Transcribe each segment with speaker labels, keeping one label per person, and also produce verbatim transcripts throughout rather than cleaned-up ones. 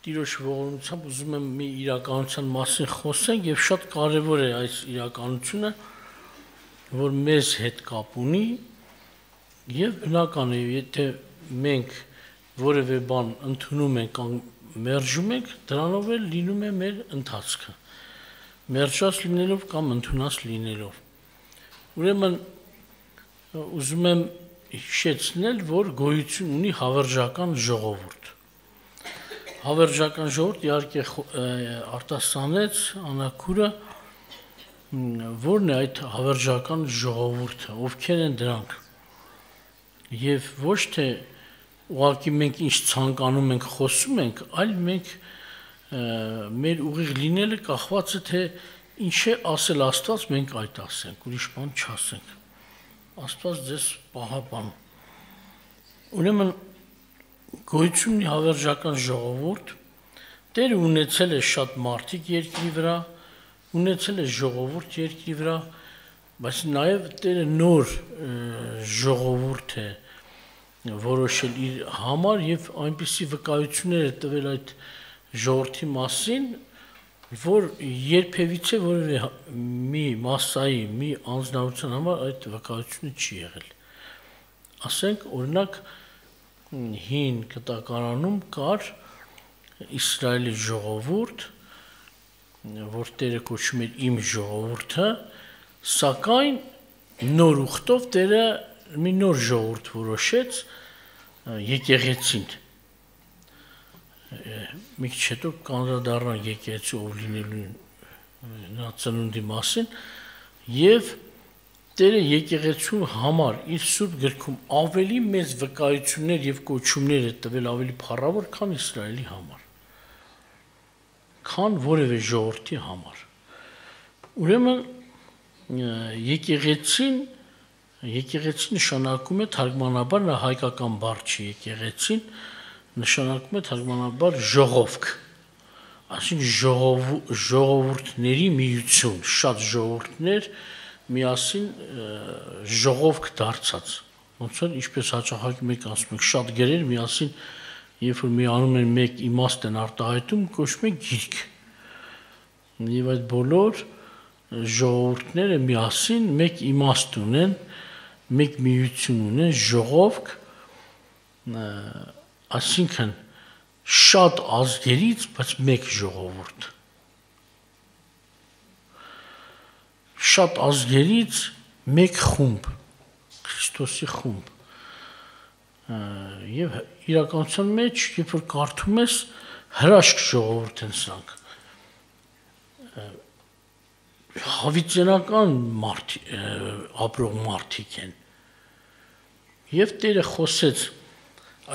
Speaker 1: տիրոջ ողորմությամբ ուզում եմ մի իրականության մասին խոսենք եւ շատ կարեւոր է այս իրականությունը, որ մեզ հետ կապ ունի եւ բնական է, եթե մենք որևէ բան ընդունում ենք կամ մերժում ենք, դրանով էլ լինում է մեր ընթացքը։ Մերժած լինելով կամ ընդունած լինելով։ Ուրեմն ուզում եմ հիշեցնել, որ գոյություն ունի հավերժական ժողովուրդ։ Հավերժական ժողովուրդ իհարկե արտասանեց Անաքուրը, որն է այդ հավերժական ժողովուրդը, ովքեր են դրանք։ Եվ ոչ թե ուղղակի մենք ինչ ցանկանում ենք, խոսում ենք, այլ մենք մեր ուղիղ լինելը կախված է թե ինչ է ասել Աստված, մենք այդ ասենք, ուրիշ բան չասենք։ Աստված ձեզ պահապան։ Ուրեմն գոյություն ունի հավերժական ժողովուրդ, Տերը ունեցել է շատ մարդիկ երկրի վրա, ունեցել է ժողովուրդ երկրի վրա, բայց նաև Տերը նոր ժողովուրդ է որոշել իր համար եւ այնպիսի վկայություններ է տվել այդ ժողովրդի մասին, որ երբևիցե որևէ մի մասսայի, մի անձնավորության համար այդ վկայությունը չի եղել։ Ասենք, օրինակ, հին կտակարանում կար Իսրայելի ժողովուրդ, որ Տերը կոչում էր իմ ժողովուրդը, սակայն նոր ուխտով Տերը մի նոր ժողովուրդ որոշեց եկեղեցին։ Մի քիչ հետո կանդրադառնանք եկեղեցու ով լինելու նրա ծնունդի մասին եւ Տերը եկեղեցու համար իր սուրբ գրքում ավելի մեծ վկայություններ եւ կոչումներ է տվել ավելի փառավոր, քան Իսրայելի համար, քան որևէ ժողովրդի համար։ Ուրեմն եկեղեցին եկեղեցի նշանակում է թարգմանաբար նա հայկական բառ չի եկեղեցին, նշանակում է թարգմանաբար ժողովք, այսինքն ժողովուրդների միություն, շատ ժողովուրդներ միասին ժողովք դարձած, ոնց որ ինչպես հաճախակի մեկ ասում ենք, շատ գրեր միասին, երբ որ միանում են մեկ իմաստ են արտահայտում, կոչվում է գիրք։ Եվ այդ բոլոր ժողովուրդները միասին մեկ իմաստ ունեն, մեկ միություն ունեն, ժողովք, այսինքն շատ ազգերից, բայց մեկ ժողովուրդ։ Շատ ազգերից մեկ խումբ, Քրիստոսի խումբ։ Եվ իրականության մեջ, երբ որ կարդում ես, հրաշք ժողովուրդ են սրանք։ Հավիտենական ապրող մարդիկ են։ Եվ Տերը խոսեց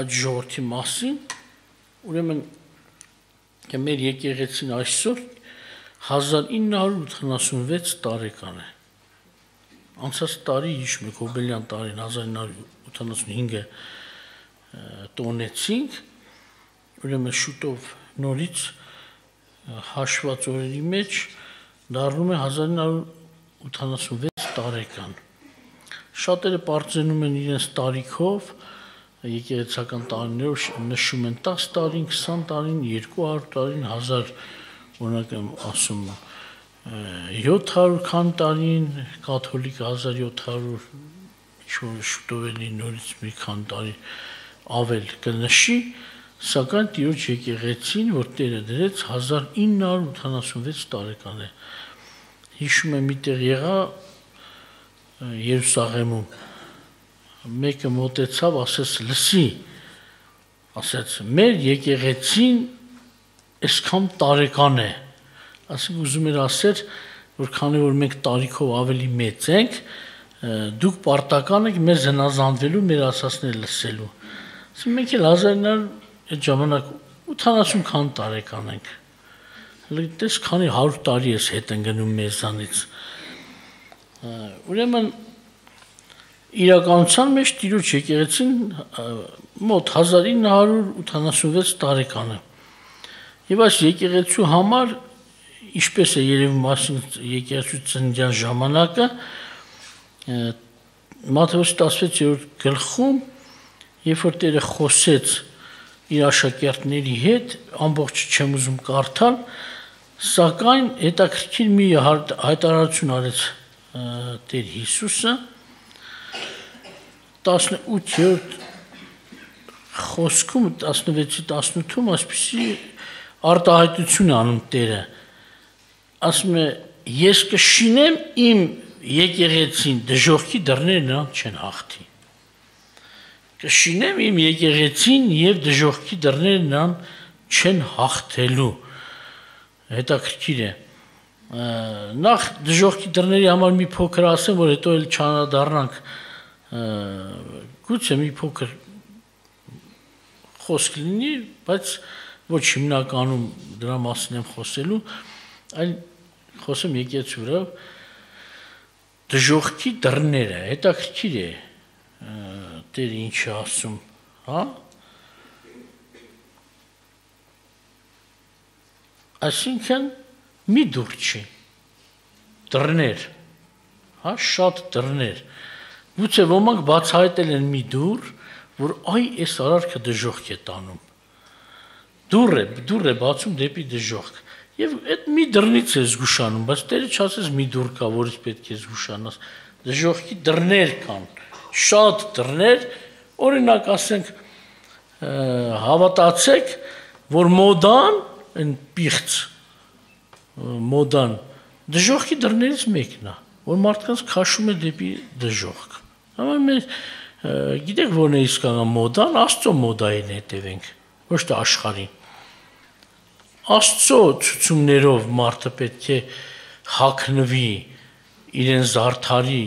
Speaker 1: այդ ժողովրդի մասին, ուրեմն մեր եկեղեցին այսօր հազար ինը հարյուր ութանասունվեց տարեկան է։ Անցած տարի հիշում եք հոբելյան տարին հազար ինը հարյուր ութանասունհինգը տոնեցինք, ուրեմն շուտով նորից հաշված օրերի մեջ դառնում է հազար ինը հարյուր ութանասունվեց տարեկան։ Շատերը պարծենում են իրենց տարիքով, եկեղեցական տարիներով նշում են տասը տարին, քսան տարին, երկու հարյուր տարին, հազար, օրինակ եմ ասում, յոթ հարյուր քան տարին, կաթոլիկը հազար յոթ հարյուր, ինչ-որ շուտով էլի նորից մի քան տարի ավել կնշի, սակայն Տիրոջ եկեղեցին, որ Տերը դրեց, հազար ինը հարյուր ութանասունվեց տարեկան է։ Հիշում եմ միտեղ եղա Երուսաղեմում, մեկը մոտեցավ, ասեց, լսի, ասեց, մեր եկեղեցին այսքան տարեկան է, ասենք ուզում էր ասել, որ քանի որ մենք տարիքով ավելի մեծ ենք, դուք պարտական եք մեզ հնազանդվելու, մեր ասածները լսելու։ Ասենք մենք էլ հազար ինը հարյուր այդ ժամանակ ութանասուն քան տարեկան ենք։ Տես քանի հարյուր տարի ես հետ են գնում մեզանից։ Ուրեմն իրականության մեջ Տիրոջ եկեղեցին մոտ հազար ինը հարյուր ութանասունվեց տարեկան է։ Եվ այս եկեղեցու համար, ինչպես է երևում եկեղեցու ծննդյան ժամանակը, Մատթեոս տասվեցերորդ գլխում, երբ որ Տերը խոսեց իր աշակերտների հետ, ամբողջ չեմ ուզում կարդալ, սակայն հետաքրքիր մի հայտարարություն արեց Տեր Հիսուսը տասնութերորդ խոսքում տասնվեցի տասնութում այսպիսի արտահայտություն անում Տերը, ասում է ես կշինեմ իմ եկեղեցին, դժոխքի դռները նրան չեն հաղթի։ Կշինեմ իմ եկեղեցին եւ դժոխքի դռները նրան չեն հաղթելու։ Հետաքրքիր է։ Նախ դժոխքի դռների համար մի փոքր ասեմ, որ հետո էլ չանդառնանք, գուցե մի փոքր խոսք լինի, բայց ոչ հիմնականում դրա մասին եմ խոսելու, այլ խոսեմ եկեղեցու վրա դժոխքի դռները, հետաքրքիր է Տերը ինչ է ասում, հա? Այսինքն մի դուռ չի, դռներ, հա, շատ դռներ, գուցե ոմանք բացահայտել են մի դուռ, որ այ այս արարքը դժոխք է տանում, դուռ է, դուռ է բացում դեպի դժոխք, եւ այդ մի դռնից է զգուշանում, բայց Տերը չասես մի դուռ կա, որից պետք է զգուշանաս, դժոխքի դռներ կան, շատ դռներ, օրինակ ասենք հավատացեք, որ մոդան, այն պիղծ մոդան, դժոխքի դռներից մեկն է, որ մարդկանց քաշում է դեպի դժոխք։ Գիտեք որն է իսկական մոդան, Աստծո մոդային հետևենք, ոչ թե աշխարհի։ Աստծո ցուցումներով մարդը պետք է հագնվի, իրեն զարդարի,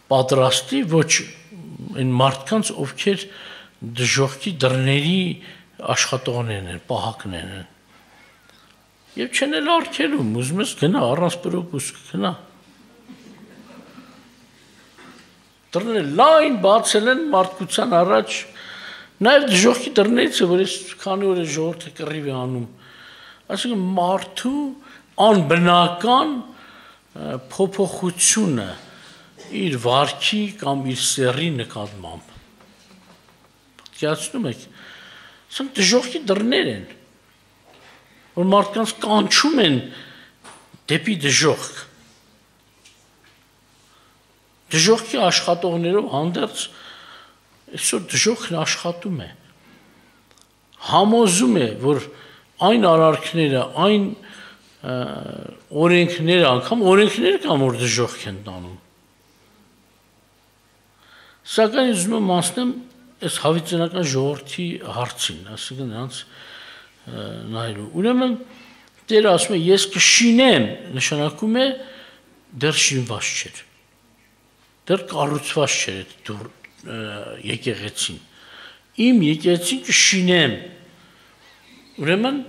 Speaker 1: պատրաստի, ոչ այն մարդկանց, ովքեր դժոխքի դռների աշխատողներն են, պահակներն են։ Եվ չեն էլ արգելում, ուզում ես գնա, առանց պրոպուսկ գնա։ Դռները լայն բացել են մարդկության առաջ, նաև դժոխքի դռներից է, որ ես քանի օր է ժողովուրդը կռիվ է անում, այսինքն մարդու անբնական փոփոխությունը իր վարքի կամ իր սեռի նկատմամբ։ Պատկերացնում եք, սա դժոխքի դռներ են, որ մարդկանց կանչում են դեպի դժոխք։ Դժոխքի աշխատողներով հանդերձ այսօր դժոխքն աշխատում է, համոզում է, որ այն արարքները, այն օրենքները, անգամ օրենքները կամ որ դժոխք են տանում։ Սակայն ուզում եմ ասնեմ այս հավիտենական ժողովրդի հարցին, ասիկան նրանց նայելու։ Ուրեմն Տերը ասում է ես կշինեմ, նշանակում է դեռ շինված չէր։ Դեռ կառուցված չէր այդ եկեղեցին։ Իմ եկեղեցին կշինեմ։ Ուրեմն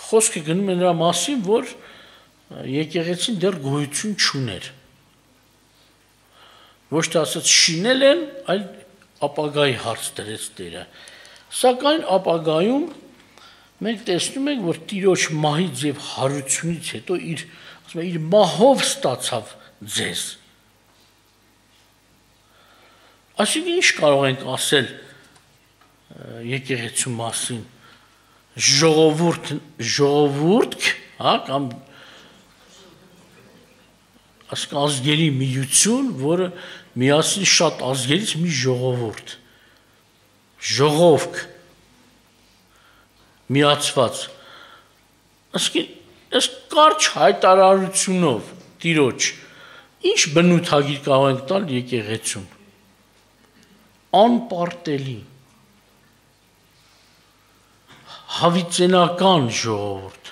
Speaker 1: խոսքը գնում է նրա մասին, որ եկեղեցին դեռ գոյություն չուներ։ Ոչ թե ասած շինել են, այլ ապագայի հարց դրեց Տերը։ Սակայն ապագայում մենք տեսնում ենք, որ Տիրոջ մահից եւ հարությունից հետո իր, ասում է, իր մահով ստացավ ձեզ։ Այսինքն ինչ կարող ենք ասել եկեղեցու մասին, ժողովուրդ, ժողովուրդ, հա, կամ ասենք ազգերի միություն, որը միասին շատ ազգերից մի ժողովուրդ, ժողովք, միացված, ասենք այս կարճ հայտարարությունով Տիրոջ, ինչ բնութագիր կարող ենք տալ եկեղեցուն, անպարտելի, հավիտենական ժողովուրդ,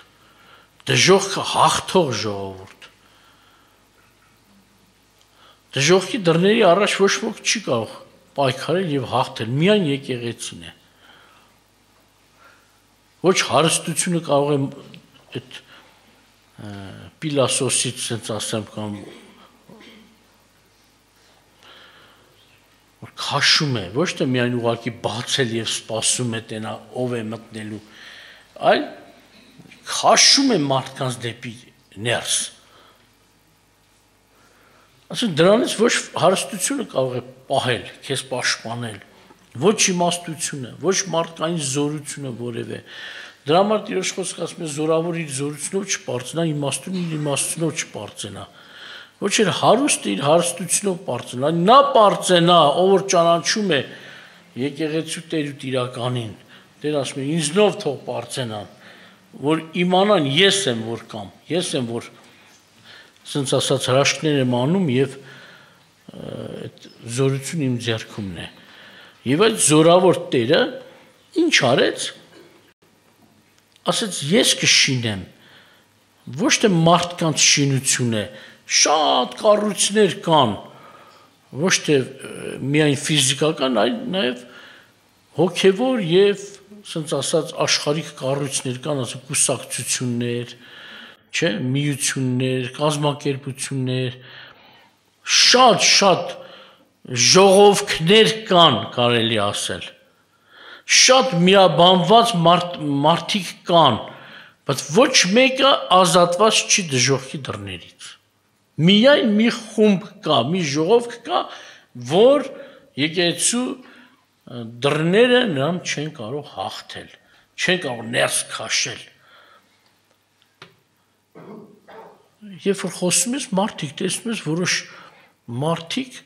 Speaker 1: դժոխքը հաղթող ժողովուրդ, դժոխքի դռների առաջ ոչ ոք չի կարող պայքարել եւ հաղթել, միայն եկեղեցին է։ Ոչ հարստությունը կարող է այդ Պիլասոսից sense ասեմ կամ որ քաշում է, ոչ թե միայն ուղակի բացել եւ սպասում է տենա ով է մտնելու, այլ քաշում է մարդկանց դեպի ներս։ Ասեն դրանից ոչ հարստությունը կարող է պահել, քեզ պաշտպանել, ոչ իմաստությունը, ոչ մարդկային զորությունը որևէ։ Դրա համար Տիրոջ խոսքը ասում է զորավոր իր զորությունով չպարծենա, իմաստուն իր իմաստությունով չպարծենա։ Ոչ էլ հարուստը իր հարստությունով պարծենա, նա պարծենա, ով որ ճանաչում է եկեղեցու Տեր ու Տիրականին։ Տեր ասում է ինձնով թող պարծենան, որ իմանան ես եմ որ կամ, ես եմ որ ասենց ասած հրաշքներ եմ անում եւ այդ զորությունը իմ ձեռքումն է։ Եվ այդ զորավոր Տերը ինչ արեց։ Ասեց ես կշինեմ, ոչ թե մարդկանց շինություն է, շատ կառույցներ կան, ոչ թե միայն ֆիզիկական, այլ նաև հոգևոր եւ ասենց ասած աշխարհիկ կառույցներ կան, ասենք կուսակցություններ, չէ, միություններ, կազմակերպություններ, շատ-շատ ժողովքներ կան, կարելի ասել։ Շատ միաբանված մարդ, մարդիկ կան, բայց ոչ մեկը ազատված չի դժոխքի դռներից։ Միայն մի խումբ կա, մի ժողովք կա, որ եկեղեցու դռները նրան չեն կարող հաղթել, չեն կարող ներս քաշել։ Երբ որ խոսում ես մարդիկ, տեսնում ես որոշ մարդիկ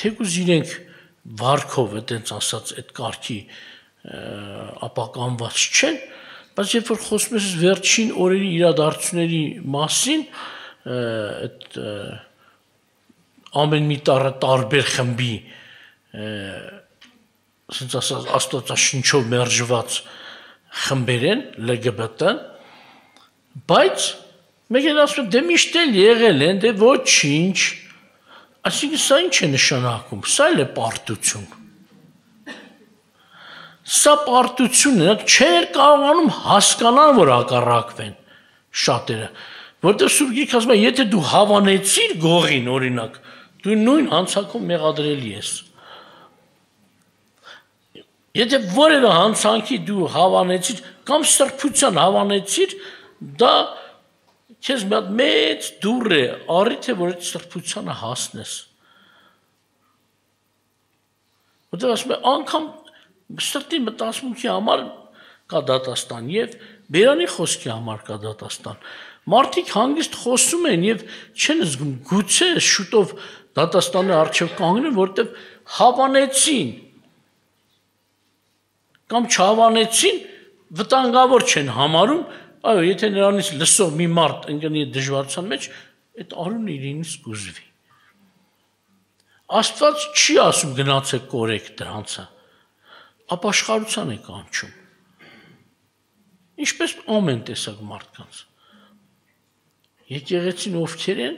Speaker 1: թեկուզ իրենք վարքով այդպես ասած այդ կարգի ապականված չեն, բայց երբ որ խոսում ես վերջին օրերի իրադարձությունների մասին, այդ ամեն մի տարը տարբեր խմբի ասենց ասած աստվածաշնչով մերժված խմբեր են L G B T, բայց մեկ են ասում դե միշտ էլ եղել են, դե ոչինչ, այսինքն սա ինչ է նշանակում, սա էլ է պարտություն։ Սա պարտություն է, չեն կարողանում հասկանալ, որ հակառակվեն շատերը, որտեղ Սուրբ Գիրքը ասում է, եթե դու հավանեցիր գողին, օրինակ, դու նույն հանցանքով մեղադրելի ես։ Եթե որևէ հանցանքի դու հավանեցիր կամ սրբության հավանեցիր, դա քեզ մի հատ մեծ դուռ է, առիթ է, որ այդ սրբությանը հասնես։ Որտեղ ասում է, անգամ սրտի մտածմունքի համար կա դատաստան եւ բերանի խոսքի համար կա դատաստան։ Մարդիկ հանգիստ խոսում են եւ չեն զգում, գուցե շուտով դատաստանի առջև կանգնեն, որտեղ հավանեցին կամ չհավանեցին, վտանգավոր չեն համարում, այո, եթե նրանից լսող մի մարդ ընկնի դժվարության մեջ, այդ արունը իրենից կուզվի։ Աստված չի ասում գնացեք կորեք դրանցը, ապաշխարության է կանչում։ Ինչպես ամեն տեսակ մարդկանց։ Եկեղեցին ովքեր են,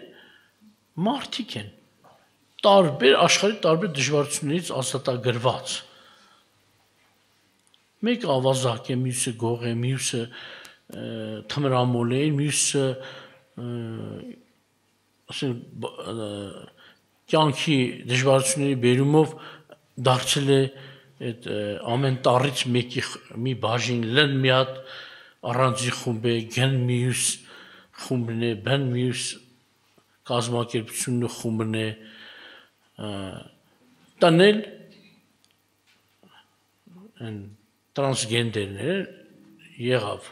Speaker 1: մարդիկ են, տարբեր աշխարհի տարբեր դժվարություններից ազատագրված։ Մեկը ավազակ է, մյուսը գող է, մյուսը թմրամոլ է, մյուսը ասենք կյանքի դժվարությունների բերումով դարձել է այդ ամեն տարից մեկի մի բաժին լն մի հատ առանձին խումբ է, գն մյուս խումբն է, բն մյուս կազմակերպությունն ու խումբն է, տանել տրանսգենդերներ եղավ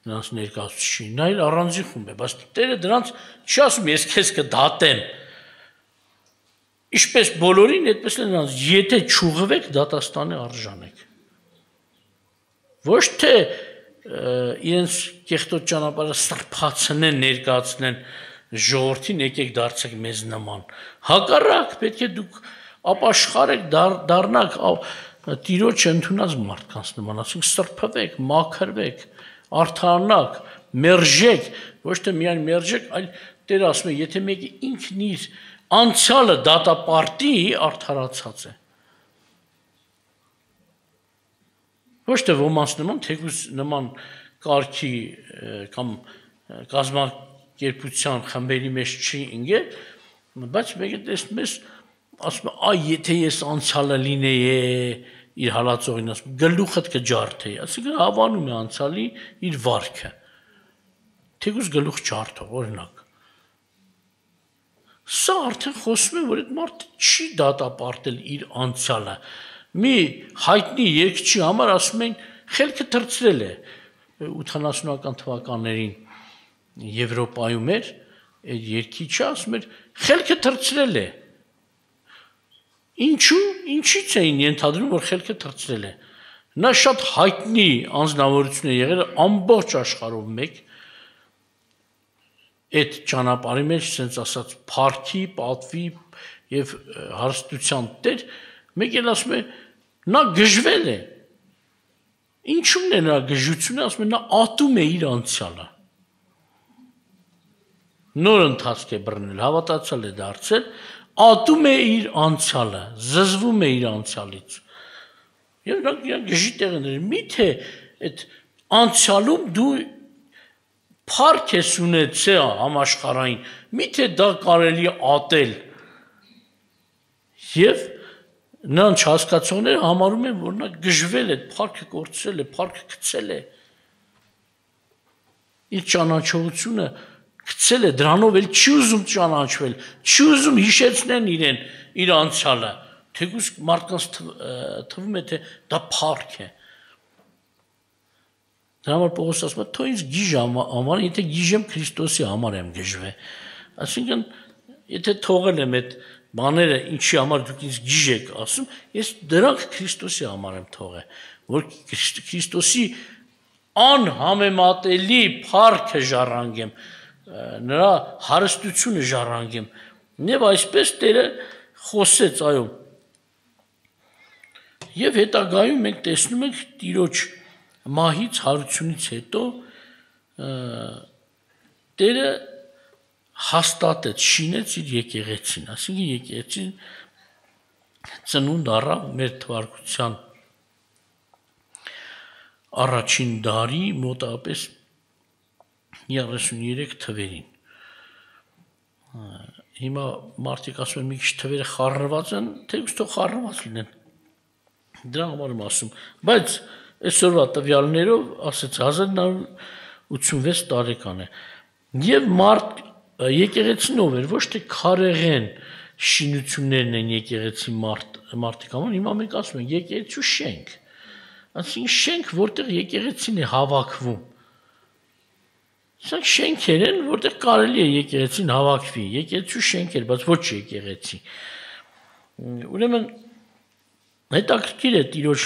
Speaker 1: նրանց ներկայացուցիչին, նա էլ առանձին խումբ է, բայց Տերը դրանց չի ասում ես քեզ կդատեմ, ինչպես բոլորին, այդպես էլ նրանց, եթե չուղղվեք, դատաստանի արժան եք։ Ոչ թե իրենց կեղտոտ ճանապարհը սրբացնեն, ներկայացնեն ժողովրդին, եկեք դարձեք մեզ նման։ Հակառակ, պետք է դուք ապաշխարեք, դառնաք Տիրոջ ընդունած մարդկանց նման, ասենք սրբվեք, մաքրվեք, արդարանաք, մերժեք, ոչ թե միայն մերժեք, այլ Տերը ասում է, եթե մեկը ինքն իր անցյալը դատապարտի, արդարացած է։ Ոչ թե ոմանց նման, թեկուզ նման կարգի կամ կազմակերպության խմբերի մեջ չի ընկել, բայց մեկը տեսնում ես, ասում է, այ եթե ես անցյալը լինեի, իր հալածողին ասում, գլուխդ կջարդեի, այսինքն հավանում է անցյալի իր վարքը, թեկուզ գլուխ ջարդող, օրինակ։ Սա արդեն խոսում է, որ այդ մարդը չի դատապարտել իր անցյալը, մի հայտնի երգչի համար ասում են խելքը թրծրել է ութանասունական թվականներին Եվրոպայում էր, այդ երգիչը ասում էր խելքը թրծրել է։ Ինչու, ինչից էին ենթադրում, որ խելքը թրծրել է։ Նա շատ հայտնի անձնավորություն է եղել ամբողջ աշխարհով մեկ այդ ճանապարհի մեջ, ասենց ասած, փառքի, պատվի եւ հարստության տեր, մեկ էլ ասում է նա գժվել է։ Ինչու՞մն է նրա գժությունը, ասում է նա ատում է իր անցյալը։ Նոր ընթացք է բռնել, հավատացյալ է դարձել, ատում է իր անցյալը, զզվում է իր անցյալից։ Եվ նա գժի տեղներ, միթե այդ անցյալում դու փառք ես ունեցել համաշխարհային, միթե դա կարելի է ատել։ Եվ նրանց հասկացողները համարում են, որ նա գժվել է, փառքը կորցրել է, փառքը գցել է։ Իր ճանաչողությունը գցել է, դրանով էլ չի ուզում ճանաչվել, չի ուզում հիշեցնեն իրեն իր անցյալը, թեկուզ մարդկանց թվում է, թե դա փառք է։ Դրա համար Պողոս ասում է, թող ինձ գիժ համար, եթե գիժեմ Քրիստոսի համար եմ գժվել։ Այսինքն, եթե թողել եմ այդ բաները, ինչի համար դուք ինձ գիժ եք ասում, ես դրանք Քրիստոսի համար եմ թողել, որ Քրիստոսի անհամեմատելի փառքը ժառանգեմ, նրա հարստությունը ժառանգեմ։ Եվ այսպես Տերը խոսեց, այո։ Եվ հետագայում մենք տեսնում ենք Տիրոջ մահից հարությունից հետո Տերը հաստատեց, շինեց իր եկեղեցին, այսինքն եկեղեցին ծնունդ առավ մեր թվարկության առաջին դարի մոտավորապես երեսուներեք թվերին։ Հիմա մարդիկ ասում են մի քիչ թվերը խառնված են, թեկուզ թող խառնված լինեն։ Դրա համար եմ ասում, բայց այսօրվա տվյալներով ասեց հազար նորը ութսունվեց տարեկան է։ Եվ մարդ եկեղեցին ով էր, ոչ թե քարեղեն շինություններն են եկեղեցի մարդ մարդիկ համար, հիմա մենք ասում ենք եկեղեցու շենք։ Այսինքն շենք, որտեղ եկեղեցին է հավաքվում։ Սրանք շենքեր են, որտեղ կարելի է եկեղեցին հավաքվի, եկեղեցու շենքեր, բայց ոչ եկեղեցի։ Ուրեմն հետաքրքիր է Տիրոջ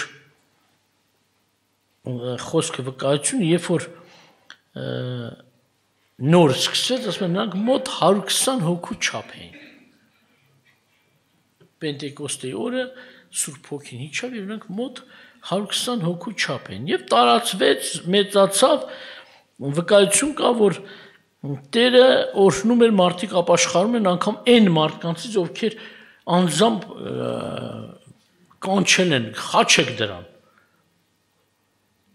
Speaker 1: խոսքը վկայությունը, երբ որ նոր սկսեց, ասում են նրանք մոտ հարյուր քսան հոգու չափ էին։ Պենտեկոստեի օրը Սուրբ Հոգին իջավ եւ նրանք մոտ հարյուր քսան հոգու չափ են եւ տարածվեց, մեծացավ, վկայություն կա, որ Տերը օրհնում էր մարդիկ ապաշխարում են անգամ այն մարդկանցից, ովքեր անձամբ կանչել են, խաչեք դրան։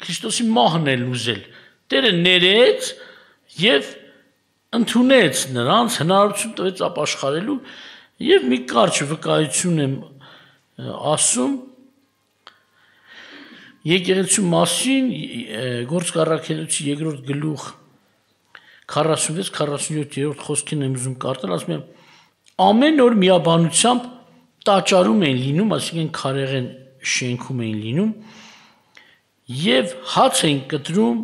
Speaker 1: Քրիստոսի մահն է լուզել։ Տերը ներեց եւ ընդունեց նրանց, հնարավորություն տվեց ապաշխարելու եւ մի կարճ վկայություն եմ ասում եկեղեցու մասին Գործք առաքելոցի երկրորդ գլուխ քառասունվեց քառասունյոթերորդ խոսքին եմ ուզում կարդալ, ասում եմ ամեն օր միաբանությամբ տաճարում էին լինում, այսինքն քարեղեն շենքում էին լինում եւ հաց էին կտրում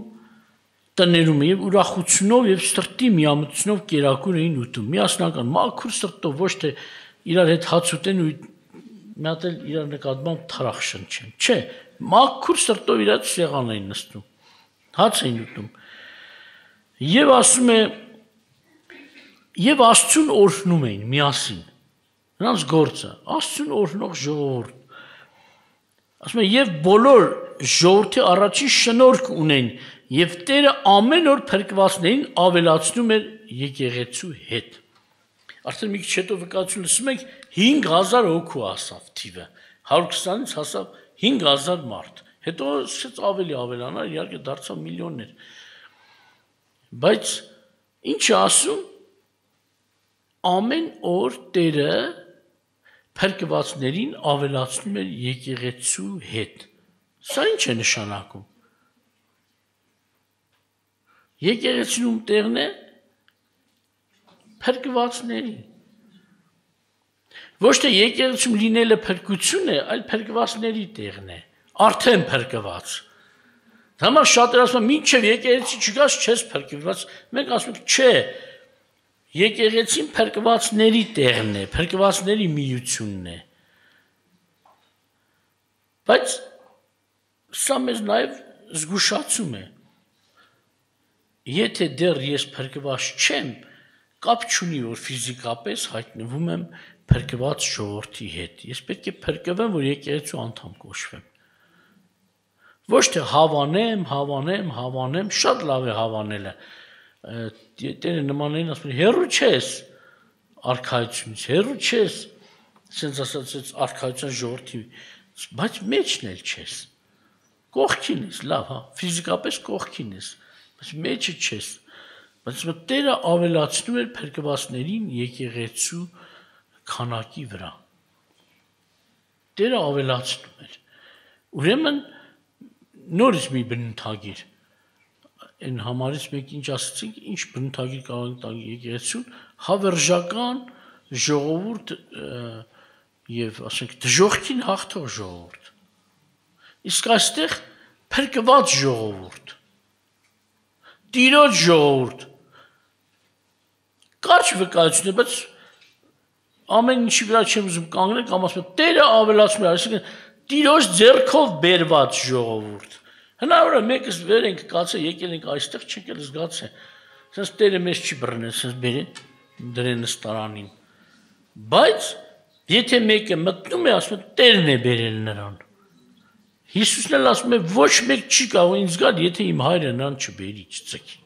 Speaker 1: տներում եւ ուրախությունով եւ սրտի միամտությունով կերակուր էին ուտում։ Միասնական մաքուր սրտով, ոչ թե իրար հետ հաց ուտեն ու մի հատ էլ իրար նկատմամբ թրախ շնչեն։ Չէ, մաքուր սրտով իրար սեղան էին նստում։ Հաց էին ուտում։ Եվ ասում է եւ Աստծուն օրհնում էին միասին։ Նրանց գործը Աստծուն օրհնող ժողովուրդ։ Ասում է եւ բոլոր ժողովրդի առաջին շնորհք ունեն եւ Տերը ամեն օր փրկվածներին ավելացնում էր եկեղեցու հետ։ Արդեն մի քիչ հետո վկայություն լսում ենք հինգ հազար հոգու ասավ թիվը։ հարյուր քսանից հասավ հինգ հազար մարդ։ Հետո սկսեց ավելի ավելանալ, իհարկե դարձավ միլիոններ։ Բայց ինչ ասում ամեն օր Տերը փրկվածներին ավելացնում էր եկեղեցու հետ։ Սա ինչ է նշանակում։ Եկեղեցիում տեղն է փրկվածների։ Ոչ թե եկեղեցում լինելը փրկություն է, այլ փրկվածների տեղն է, արդեն փրկված։ Համար շատերը ասում են, մինչև եկեղեցի չգաս, չես փրկված։ Մենք ասում ենք, չէ, եկեղեցին փրկվածների տեղն է, փրկվածների միությունն է։ Բայց սա մեզ նաև զգուշացում է։ Եթե դեռ ես փրկված չեմ, կապ չունի, որ ֆիզիկապես հայտնվում եմ փրկված ժողովրդի հետ։ Ես պետք է փրկվեմ, որ եկեղեցու անդամ կոչվեմ։ Ոչ թե հավանեմ, հավանեմ, հավանեմ, շատ լավ է հավանելը։ Տերը նմաններին ասում են, հեռու չես արքայությունից, հեռու չես, ասենց ասած արքայության ժողովրդի, բայց մեջն էլ չես։ Կողքին ես, լավ, հա, ֆիզիկապես կողքին ես, բայց մեջը չես։ Բայց Տերը ավելացնում էր փրկվածներին եկեղեցու քանակի վրա։ Տերը ավելացնում էր։ Ուրեմն նորից մի բնութագիր։ Այն համարից մեկ ինչ ասացինք, ինչ բնութագիր կարող ենք տալ եկեղեցուն, հավերժական ժողովուրդ եւ ասենք դժոխքին հաղթող ժողովուրդ։ Իսկ այստեղ փրկված ժողովուրդ։ Տիրոջ ժողովուրդ։ Կարճ վկայություն է, բայց ամեն ինչի վրա չեմ ուզում կանգնել, կամ ասում եմ, Տերը ավելացնում է, այսինքն Տիրոջ ձեռքով բերված ժողովուրդ։ Հնարավոր է մեկս վեր ենք կացել, եկել ենք այստեղ, չենք էլ զգացել։ Սենց Տերը մեզ չի բռնել, սենց բերի դրեն նստարանին։ Բայց եթե մեկը մտնում է, ասում է, Տերն է բերել նրան։ Հիսուսն էլ ասում է, ոչ մեկ չի կարող ինձ գալ, եթե իմ հայրը նրան չբերի, չծքի։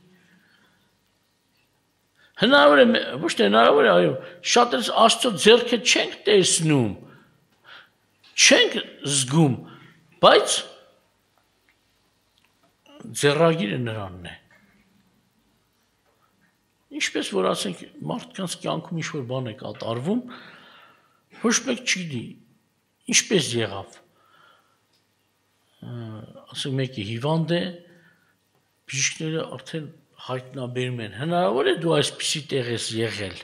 Speaker 1: Հնարավոր է, ոչ թե հնարավոր է, այո, շատերս Աստծո ձեռքը չենք տեսնում, չենք զգում, բայց ձեռագիրը նրանն է։ Ինչպես որ ասենք, մարդկանց կյանքում ինչ-որ բան է կատարվում, ոչ մեկ չգիտի, ինչպես եղավ։ Ասենք մեկի հիվանդ է, բժիշկները արդեն հայտնաբերում են, հնարավոր է դու այսպիսի տեղ ես եղել,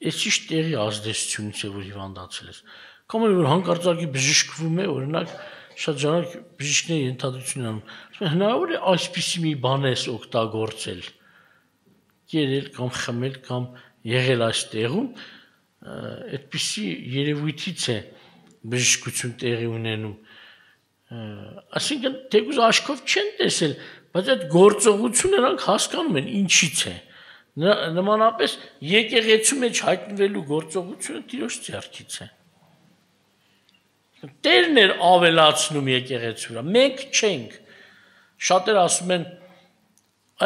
Speaker 1: այս ճիշտ տեղի ազդեցությունից է, որ հիվանդացել ես, կամ որ հանկարծակի բժշկվում է, օրինակ շատ ժամանակ բժիշկները ենթադրություն անում, հնարավոր է այսպիսի մի բան ես օգտագործել, կերել կամ խմել կամ եղել այս տեղում, այդպիսի երևույթից է բժշկություն տեղի ունենում, այսինքն թեկուզ աչքով չեն տեսել, բայց այդ գործողությունը նրանք հասկանում են ինչից է։ Նմանապես եկեղեցու մեջ հայտնվելու գործողությունը Տիրոջ ձեռքից է։ Տերն էր ավելացնում եկեղեցու վրա, մենք չենք։ Շատերը ասում են,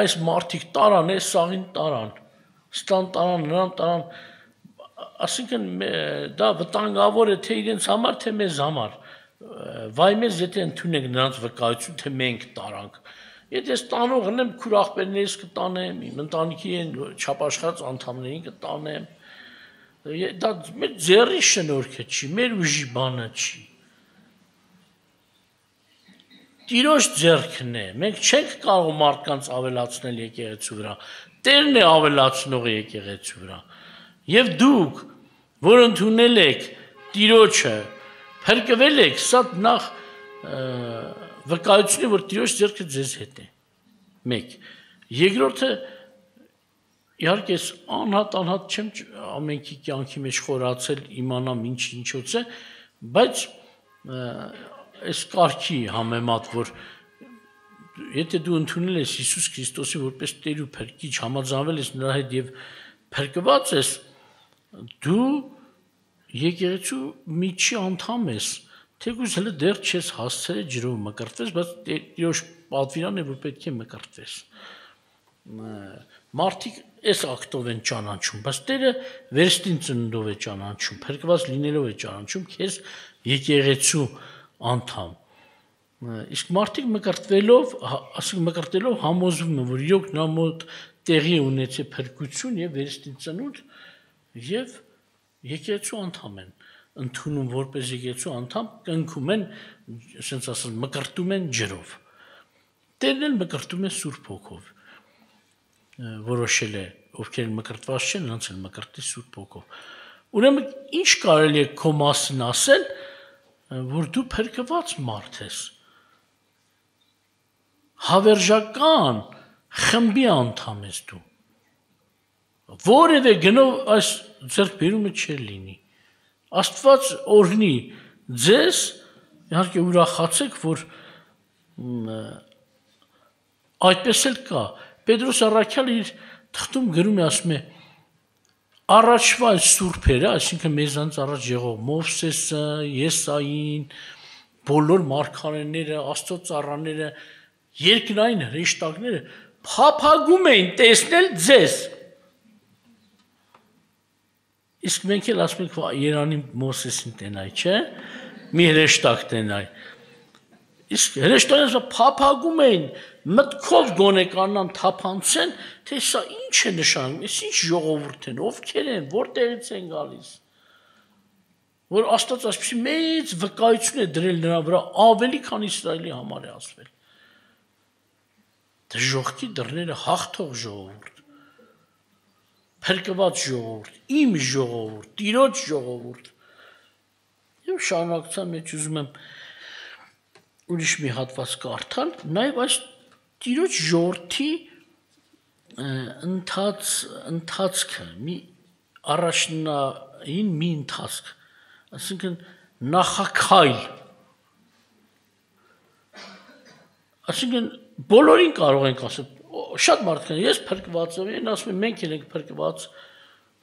Speaker 1: այս մարդիկ տարան, այս սաղին տարան, ստան տարան, նրան տարան, ասինքն դա վտանգավոր է թե իրենց համար, թե մեզ համար։ Վայ մեզ եթե ընդունենք նրանց վկայություն, թե մենք տարանք։ Եթե ես տանողն եմ, քուր աղբերներս կտանեմ, իմ ընտանիքի են չափաշխարած անդամներին կտանեմ։ Դա մեր ձեռի շնորհքը չի, մեր ուժի բանը չի։ Տիրոջ ձեռքն է, մենք չենք կարող մարդկանց ավելացնել եկեղեցու վրա, Տերն է ավելացնողը եկեղեցու վրա։ Եվ դուք, որ ընդունել եք Տիրոջը, փրկվել եք, սա նախ վկայություն է, որ Տիրոջ ձեռքը ձեզ հետ է։ Մեկ։ Երկրորդը իհարկե ես անհատ-անհատ չեմ ամենքի կյանքի մեջ խորացել իմանամ ինչ ինչոց է, բայց այս կարգի համեմատ, որ եթե դու ընդունել ես Հիսուս Քրիստոսի որպես Տեր ու Փրկիչ, համաձայնվել ես նրա հետ եւ փրկված ես, դու եկեղեցու միջի անդամ ես, թեկուզ հələ դեռ չես հասցել ջրով մկրտվես, բայց Տիրոջ պատվիրանն է, որ պետք է մկրտվես։ Մարդիկ այս ակտով են ճանաչում, բայց Տերը վերստին ծննդով է ճանաչում, փրկված լինելով է ճանաչում քեզ եկեղեցու անդամ։ Իսկ մարդիկ մկրտվելով, ասենք մկրտելով համոզվում են, որ իրոք նրա մոտ տեղի ունեցել փրկություն եւ վերստին ծնունդ եւ եկեղեցու անդամ են, ընդունում որպես եկեղեցու անդամ, կնքում են, ասենց ասած, մկրտում են ջրով։ Տերն էլ մկրտում է Սուրբ Հոգով։ Որոշել է, ովքեր մկրտված չեն, նրանց էլ մկրտի Սուրբ Հոգով։ Ուրեմն ինչ կարելի է քո մասին ասել, որ դու փրկված մարդ ես։ Հավերժական խմբի անդամ ես դու։ Որևէ գնով այս ձեռքբերումը չի լինի։ Աստված օրհնի ձեզ, իհարկե ուրախացեք, որ այդպես էլ կա։ Պետրոս առաքյալը իր թղթում գրում է, ասում է. առաջվա սուրբերը, այսինքն մեզանից առաջ եղող Մովսեսը, Եսային, բոլոր մարգարեները, Աստծո ծառաները, երկնային հրեշտակները փափագում էին տեսնել ձեզ։ Իսկ մենք էլ ասում ենք, Երանի Մովսեսին տենայ, չէ՞։ Մի հրեշտակ տենայ։ Իսկ հրեշտակները փափագում էին, մտքով գոնե կանան թափանցեն, թե սա ինչ է նշանակում, այս ինչ ժողովուրդ են, ովքեր են, որտեղից են գալիս։ Որ Աստված այսպեսի մեծ վկայություն է դրել նրա վրա, ավելի քան Իսրայելի համար է ասվել։ Դժոխքի դռները հաղթող ժողովուրդ, փրկված ժողովուրդ, իմ ժողովուրդ, Տիրոջ ժողովուրդ։ Եվ շարունակության մեջ ուզում եմ ուրիշ մի հատված կարդալ, նաև այս Տիրոջ ժողովրդի ընթաց ընթացքը, մի առաջնային մի ընթացք, այսինքն նախաքայլ։ Այսինքն բոլորին կարող ենք ասել, շատ մարդիկ, ես փրկված եմ, ասում են մենք ենք փրկված,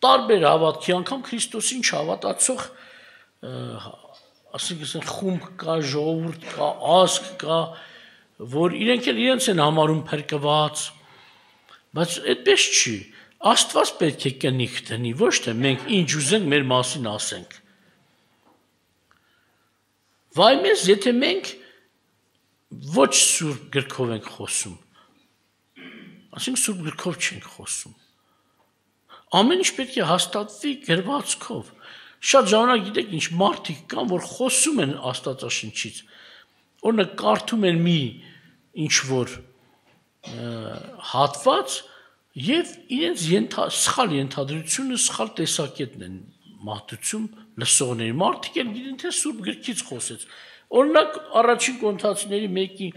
Speaker 1: տարբեր հավատքի, անգամ Քրիստոսին չհավատացող, ասենք խումբ կա, ժողովուրդ կա, ազգ կա, որ իրենք էլ իրենց են համարում փրկված, բայց այդպես չի։ Աստված պետք է կնիք դնի, ոչ թե մենք ինչ ուզենք մեր մասին ասենք։ Վայ մեզ, եթե մենք ոչ սուրբ գրքով ենք խոսում, ասենք սուրբ գրքով չենք խոսում։ Ամեն ինչ պետք է հաստատվի գրվածքով։ Շատ ժամանակ գիտեք ինչ մարդիկ կան, որ խոսում են Աստվածաշնչից, օրինակ կարդում են մի ինչ որ հատված եւ իրենց ենթա սխալ ենթադրությունը, սխալ տեսակետն են մատուցում լսողների։ Մարդիկ են գիտեն թե սուրբ գրքից խոսեց։ Օրինակ առաջին կոնթացիների մեկի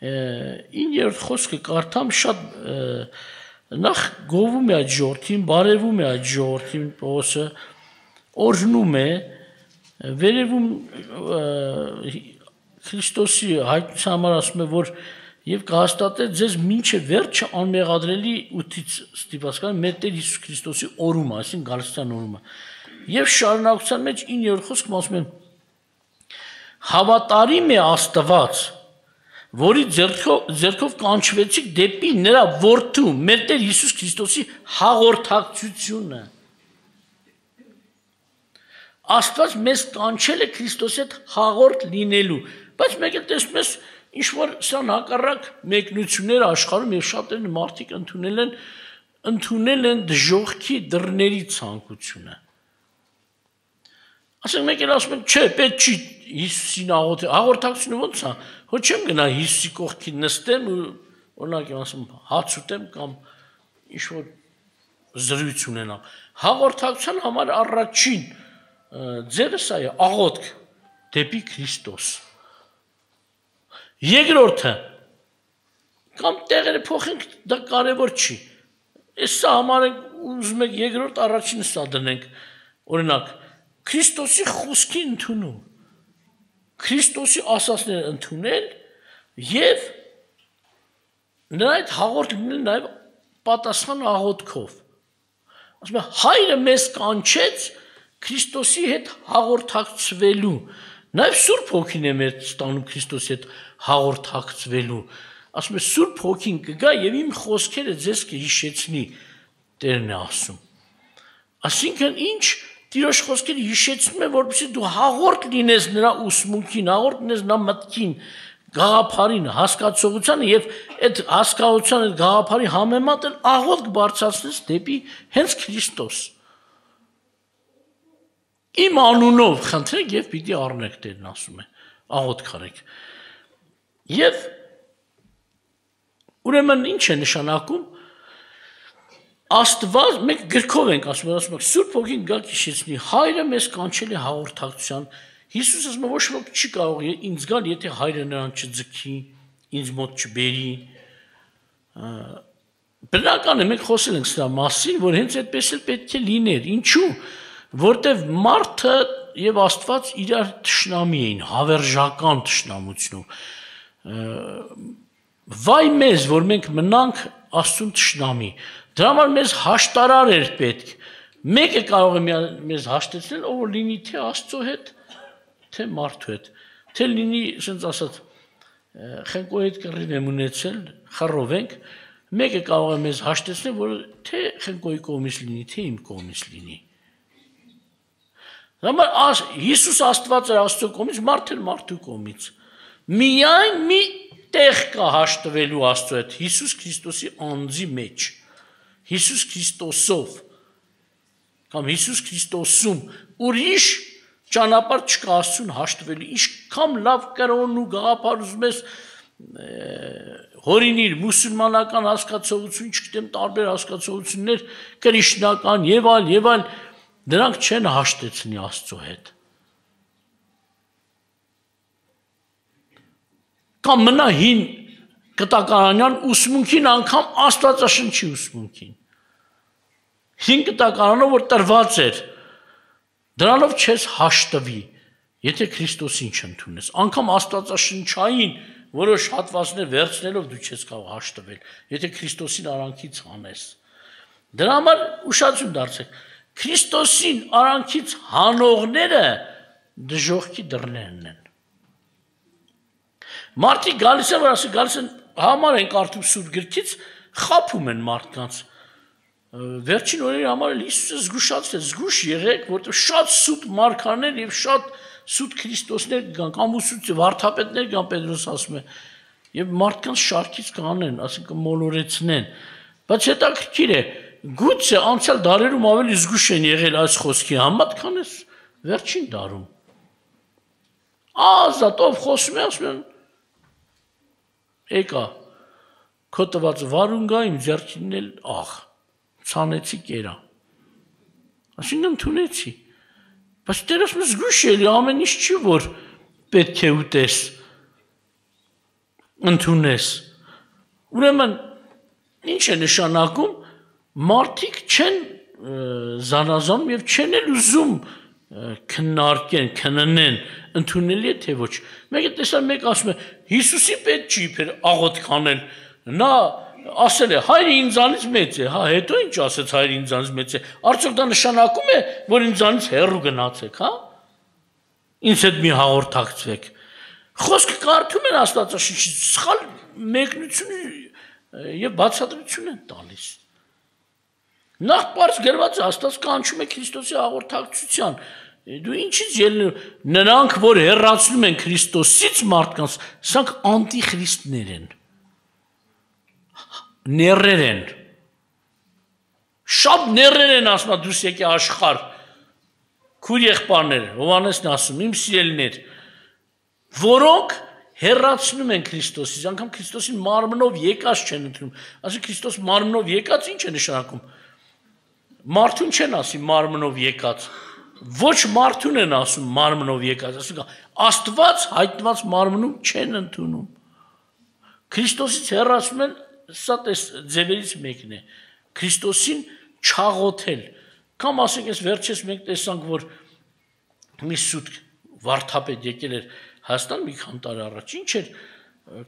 Speaker 1: իններորդ խոսքը կարդամ, շատ նախ գովում է այդ ժողովրդին, բարևում է այդ ժողովրդին, Պողոսը օրհնում է, վերևում Քրիստոսի հայտնության համար ասում է, որ եւ կհաստատե ձեզ մինչև վերջը անմեղադրելի ութից ստիպված կան մեր Տեր Հիսուս Քրիստոսի օրումը, այսինքն գալստյան օրումը։ Եվ շարունակության մեջ իններորդ խոսքում ասում են. հավատարիմ է Աստված, որի ձեռքով ձեռքով կանչվեցիք դեպի նրա որդու մեր Տեր Հիսուս Քրիստոսի հաղորդակցությունը։ Աստված մեզ կանչել է Քրիստոսի հետ հաղորդ լինելու, բայց մեկ էլ տեսնում ես ինչ որ սան հակառակ մեկնություններ աշխարհում եւ շատերն մարդիկ ընդունել են ընդունել են դժոխքի դռների ցանկությունը։ Ասենք մեկ էլ ասում են, չէ, պետք չի Հիսուսին աղոթել, հաղորդակցությունը ո՞նց է, հո չեմ գնա Հիսուսի կողքին նստեմ ու օրինակ ասում հաց ուտեմ կամ ինչ որ զրույց ունենամ։ Հաղորդակցության համար առաջին ձևը սա է, աղոթք դեպի Քրիստոս։ Երկրորդը կամ տեղերը փոխենք, դա կարևոր չի։ Այս սա համարենք ուզում եք երկրորդ առաջինը սա դնենք։ Օրինակ Քրիստոսի խոսքի ընդունում, Քրիստոսի ասածները ընդունել եւ նրա այդ հաղորդ լինել նաեւ պատասխան աղոթքով։ Ասում է հայրը մեզ կանչեց Քրիստոսի հետ հաղորդակցվելու, նաեւ Սուրբ Հոգին է մեր ստանում Քրիստոսի հետ հաղորդակցվելու։ Ասում է Սուրբ Հոգին կգա եւ իմ խոսքերը ձեզ կհիշեցնի, Տերն է ասում։ Այսինքն ինչ Տիրոջ խոսքերը հիշեցնում է, որպեսզի դու հաղորդ լինես նրա ուսմունքին, հաղորդ լինես նրա մտքին, գաղափարին, հասկացողությանը եւ այդ հասկացության այդ գաղափարի համեմատ էլ աղոթք բարձրացնես դեպի հենց Քրիստոս։ Իմ անունով խնդրեք եւ պիտի առնեք, Տերն ասում է, աղոթք արեք։ Եվ ուրեմն ինչ է նշանակում Աստված մենք գրքով ենք ասում, ասում ենք Սուրբ Հոգին գա քիշեցնի, Հայրը մեզ կանչել է հաղորդակցության։ Հիսուսը ասում է ոչ ոք չի կարող ինձ գալ, եթե Հայրը նրան չձգի, ինձ մոտ չբերի։ Բնական է, մենք խոսել ենք սրա մասին, որ հենց այդպես էլ պետք է լիներ։ Ինչու՞։ Որտեվ մարդը եւ Աստված իրար թշնամի էին, հավերժական թշնամություն։ Վայ մեզ, որ մենք մնանք Աստծուն թշնամի։ Դրա համար մեզ հաշտարար էր պետք։ Մեկը կարող է մեզ հաշտեցնել, ով լինի թե Աստծո հետ, թե մարդու հետ, թե լինի, ասենց ասած, խենկո հետ կռիվ եմ ունեցել, խռով ենք, մեկը կարող է մեզ հաշտեցնել, որ թե խենկոյի կողմից լինի, թե իմ կողմից լինի։ Դրա համար Հիսուս Աստված էր Աստծո կողմից, մարդը մարդու կողմից։ Միայն մի տեղ կա հաշտվելու Աստծո հետ, Հիսուս Քրիստոսի անձի մեջ, Հիսուս Քրիստոսով կամ Հիսուս Քրիստոսում ուրիշ ճանապարհ չկա Աստծուն հաշտվելու, ինչքան լավ կրոն ու գաղափար ուզում ես հորինիր մուսուլմանական հասկացողություն, չգիտեմ տարբեր հասկացություններ, կրիշնական եւ այլ եւ այլ, դրանք չեն հաշտեցնի Աստծո հետ։ Կամ մնա հին կտակարանյան ուսմունքին անգամ Աստվածաշնչի ուսմունքին։ Հին կտակարանով որ տրված էր, դրանով չես հաշտվի, եթե Քրիստոսին չընդունես։ Անգամ Աստվածաշնչային որոշ հատվածներ վերցնելով դու չես կարող հաշտվել, եթե Քրիստոսին արանքից հանես։ Դրա համար ուշադրություն դարձեք, Քրիստոսին արանքից հանողները դժոխքի դռներն են։ Մարդիկ գալիս են, որ ասի գալիս են համար են կարդում Սուրբ գրքից, խաբում են մարդկանց։ Վերջին օրերի համար էլ Հիսուսը զգուշացրեց, զգուշ եղեք, որտեղ շատ սուտ մարգարեներ եւ շատ սուտ Քրիստոսներ կան, կամ ուսուցիչ վարդապետներ կան, Պետրոս ասում է, եւ մարդկանց շարքից կանեն, ասենք մոլորեցնեն։ Բայց հետաքրքիր է, գուցե անցյալ դարերում ավելի զգուշ են եղել այս խոսքի համեմատ, քան այս վերջին դարում։ Ազատով խոսում են, ասում են, եկա, քո տված վարուն գա իմ ձեռքին էլ աղ, ցանեցի կերա։ Այսինքն ընդունեցի։ Բայց Տերը ասում է զգուշ ելի ամեն ինչ չի որ պետք է ուտես, ընդունես։ Ուրեմն ինչ է նշանակում, մարդիկ չեն զանազանում եւ չեն էլ ուզում քննարկեն, քննեն, ընդունելի է թե ոչ։ Մեկը տեսան մեկ ասում է Հիսուսի պետք չի իբր աղոթ կանել։ Նա ասել է հայրը ինձանից մեծ է, հա, հետո ինչ ասեց հայրը ինձանից մեծ է։ Արդյոք դա նշանակում է, որ ինձանից հեռու գնացեք, հա։ Ինձ հետ մի հաղորդակցվեք։ Խոսքը կարդում են Աստվածաշնչից, սխալ մեկնություն եւ բացատրություն են տալիս։ Նախ բարձ գրված է Աստված կանչում է Քրիստոսի հաղորդակցության։ Դու ինչից ելնում, նրանք, որ հեռացնում են Քրիստոսից մարդկանց, սրանք անտիխրիստներ են, ներեր են, շատ ներեր են ասում, դուս եկե աշխարհ, քույր եղբայրներ, Հովհաննեսն ասում, իմ սիրելիներ, որոնք հեռացնում են Քրիստոսից, անգամ Քրիստոսին մարմնով եկած չեն ընդունում, ասում Քրիստոս մարմնով եկած ինչ է նշանակում, մարդուն չեն ասի մարմնով եկած, ոչ մարդուն են ասում մարմնով եկած, ասում Աստված հայտնված մարմնում չեն ընդունում։ Քրիստոսից հեռացում են, սա ձևերից մեկն է, Քրիստոսին չաղոթել։ Կամ ասենք, ես վերջերս մենք տեսանք, որ մի սուտ վարդապետ եկել էր Հայաստան մի քանի տարի առաջ, ինչ էր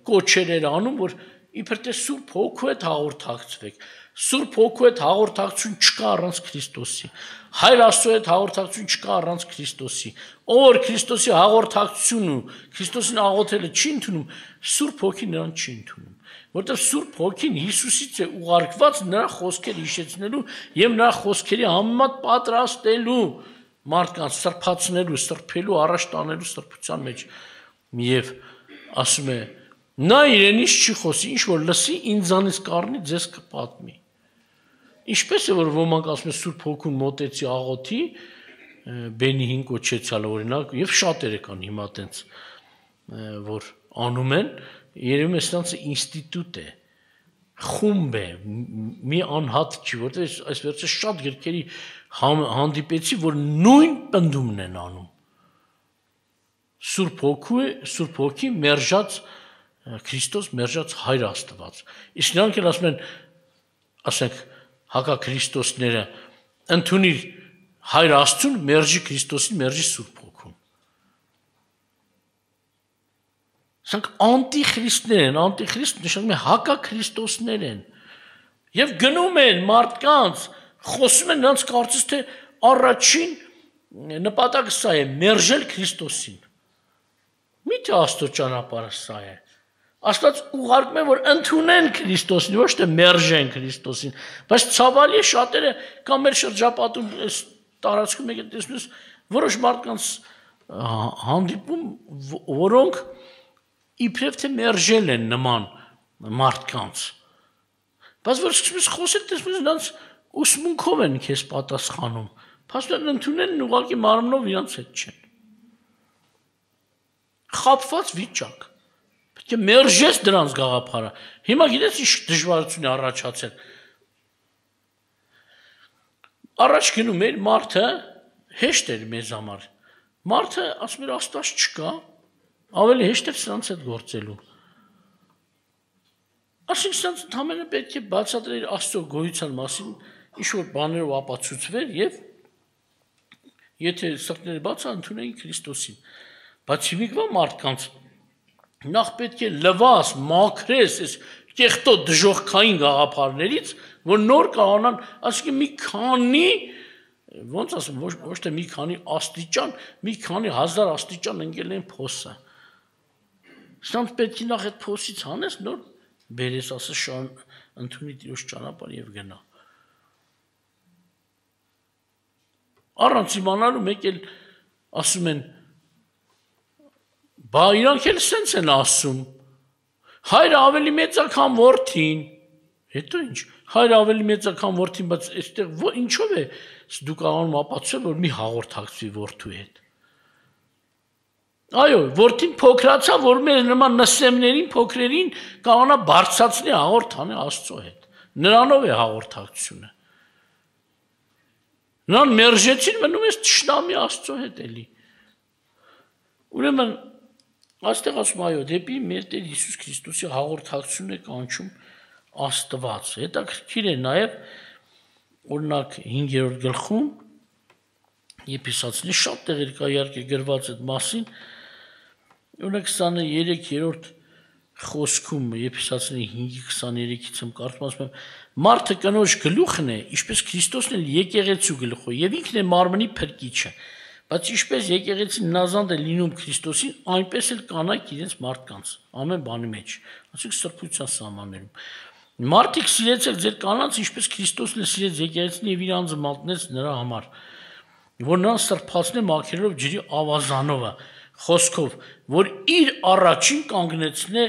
Speaker 1: կոչեր էր անում, որ իբր թե Սուրբ Հոգու հետ հաղորդակցվեք։ Սուրբ Հոգու հետ հաղորդակցություն չկա առանց Քրիստոսի։ Հայր Աստծո հետ հաղորդակցություն չկա առանց Քրիստոսի։ Ով որ Քրիստոսի հաղորդակցությունն ու Քրիստոսին աղոթելը չի ընդունում, Սուրբ Հոգին նրան չի ընդունում։ Որտեղ Սուրբ Հոգին Հիսուսից է ուղարկված նրա խոսքերը հիշեցնելու եւ նրա խոսքերի համեմատ պատրաստելու մարդկանց սրբացնելու, սրբելու, առաջ տանելու սրբության մեջ։ Եվ ասում է նա իրենից չի խոսի, ինչ որ լսի ինձանից կառնի, ձեզ կպատմի։ Ինչպես է որ ոմանք ասում են Սուրբ Հոգուն մոտեցի աղոթի, բենի հին կոչեցյալ օրինակ, եւ շատերը կան հիմա տենց որ անում են, երևում է սրանց ինստիտուտ է, խումբ է, մի անհատ չի, որտեղ այս վերջը շատ գրքերի հանդիպեցի, որ նույն պնդումն են անում։ Սուրբ Հոգու է, Սուրբ Հոգի մերժած Քրիստոս մերժած Հայր Աստված։ Իսկ նրանք էլ ասում են, ասենք, հակաքրիստոսները ընդունիր Հայր Աստծուն, մերժի Քրիստոսին, մերժի Սուրբ Հոգուն։ Սրանք անտիխրիստներ են, անտիխրիստ նշանակում է հակաքրիստոսներ են։ Եվ գնում են մարդկանց, խոսում են նրանց կարծես թե առաջին նպատակը սա է, մերժել Քրիստոսին։ Միթե Աստծո ճանապարհը սա է։ Աստված ուղարկում է, որ ընդունեն Քրիստոսին, ոչ թե մերժեն Քրիստոսին, բայց ցավալի է շատերը կամ մեր շրջապատում այս տարածքում եկել տեսնում ես որոշ մարդկանց հանդիպում, որոնք իբրև թե մերժել են նման մարդկանց։ Բայց որ սկսում ես խոսել, տեսնում ես նրանց ուսմունքով են քեզ պատասխանում։ Փաստորեն ընդունել են ուղղակի մարմնով իրանց հետ չեն։ Խաբված վիճակ։ Պետք է մերժես դրանց գաղափարը։ Հիմա գիտես ինչ դժվարություն է առաջացել։ Առաջ գնում էր մարդը, հեշտ էր մեզ համար։ Մարդը ասում էր Աստված չկա, ավելի հեշտ էր սրանց հետ գործելու։ Այսինքն սրանց ընդհանրապես պետք է բացատրել Աստծո գոյության մասին ինչ-որ բաներով ապացուցվեր եւ եթե սրտները բաց ընդունեին Քրիստոսին։ Բայց հիմիկվա մարդկանց նախ պետք է լվաս, մաքրես այս կեղտոտ դժոխքային գաղափարներից, որ նոր կարողանան, այսինքն մի քանի, ոնց ասեմ, ոչ, ոչ թե մի քանի աստիճան, մի քանի հազար աստիճան ընկել են փոսը։ Սրանց պետք է նախ այդ փոսից հանես, նոր բերես, ասես շան ընդունի Տիրոջ ճանապարհ եւ գնա։ Առանց իմանալու մեկ էլ ասում են բա իրանք էլ սենց են ասում, հայրը ավելի մեծ է, քան որդին, հետո ինչ, հայրը ավելի մեծ է, քան որդին, բայց այստեղ ինչով է դու կարողանում ապացուցել, որ մի հաղորդակցվի որդու հետ։ Այո, որդին փոքրացա, որ մեր նման նսեմներին, փոքրերին կարողանա բարձրացնի հաղորդանը Աստծո հետ։ Նրանով է հաղորդակցությունը։ Նրան մերժեցին, մնում ես թշնամի Աստծո հետ էլի։ Ուրեմն Աստեղ ասում այո, դեպի մեր Տեր Հիսուս Քրիստոսի հաղորդակցությունն է կանչում Աստված։ Հետաքրքիր է նաև օրինակ հինգերորդ գլխում Եփեսացիների շատ տեղեր կա իհարկե գրված այդ մասին։ Օրինակ քսաներեքերորդ խոսքում Եփեսացիների հինգի քսաներեքից եմ կարդում, ասում եմ. «Մարդը կնոջ գլուխն է, ինչպես Քրիստոսն էլ եկեղեցու գլուխը, եւ ինքն է մարմնի փրկիչը։ Բայց ինչպես եկեղեցին նազանդ է լինում Քրիստոսին, այնպես էլ կանայք իրենց մարդկանց, ամեն բանի մեջ, ասենք սրբության սահմաններում։ Մարդիկ սիրեցեք ձեր կանանց, ինչպես Քրիստոսն է սիրեց եկեղեցին եւ իր անձը մատնեց նրա համար, որ նրան սրբացնե մաքրելով ջրի ավազանովը, խոսքով, որ իր առաջին կանգնեցնե,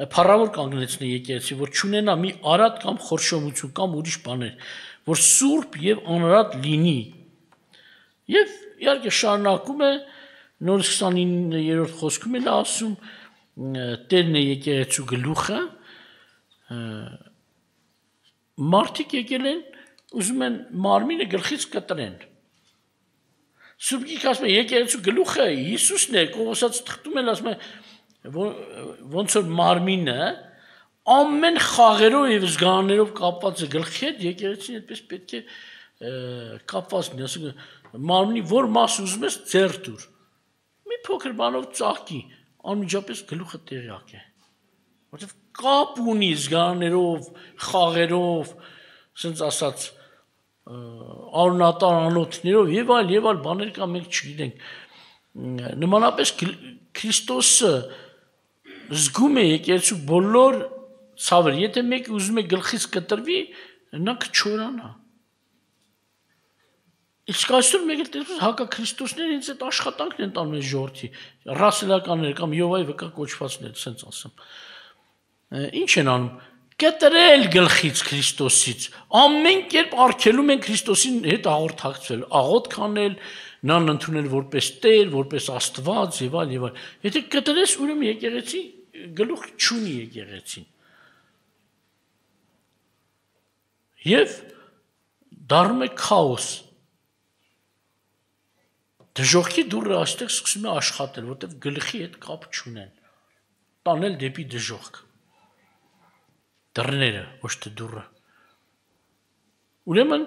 Speaker 1: փառավոր կանգնեցնե եկեղեցի, որ չունենա մի արատ կամ խորշոմություն կամ ուրիշ բաներ, որ սուրբ եւ անարատ լինի։ Եվ իհարկե շարունակում է նորից քսանիններորդ խոսքում էլ ասում Տերն է եկեղեցու գլուխը, մարդիկ եկել են, ուզում են մարմինը գլխից կտրեն։ Սուրբ Գիրքը ասում է եկեղեցու գլուխը Հիսուսն է, Կողոսաց թղթում էլ ասում է ոնց որ մարմինը ամեն խաղերով եւ զգաներով կապված է գլխի հետ, եկեղեցին այդպես պետք է կապված լինի, ասում մարմնի որ մաս ուզում ես ձեռ դուր։ Մի փոքր բանով ծաղկի, անմիջապես գլուխը տեղյակ է։ Որտեվ կապ ունի զգաներով, խաղերով, ասենց ասած արունատար անոթներով եւ այլ եւ այլ բաներ կա մենք չգիտենք։ Նմանապես Քրիստոսը զգում է եկեղեցու բոլոր ցավերը, եթե մեկը ուզում է գլխից կտրվի, նա կչորանա։ Իսկ այսօր մեկ էլ տեսնում հակաքրիստոսները ինձ այդ աշխատանքն են տանում այս ժողովրդի, ռասելականները կամ Եհովայի վկա կոչվածները, ասենց ասեմ։ Ինչ են անում։ Կտրել գլխից Քրիստոսից, ամեն կերպ արգելում են Քրիստոսին հետ հաղորդակցվել, աղոթք անել, նրան ընդունել որպես Տեր, որպես Աստված եւ այլ եւ այլ։ Եթե կտրես, ուրեմն եկեղեցի գլուխ չունի եկեղեցին։ եւ դառնում է քաոս։ Դժոխքի դուռը այստեղ սկսում է աշխատել, որտեղ գլխի հետ կապ չունեն։ Տանել դեպի դժոխք։ Դռները, ոչ թե դուռը։ Ուրեմն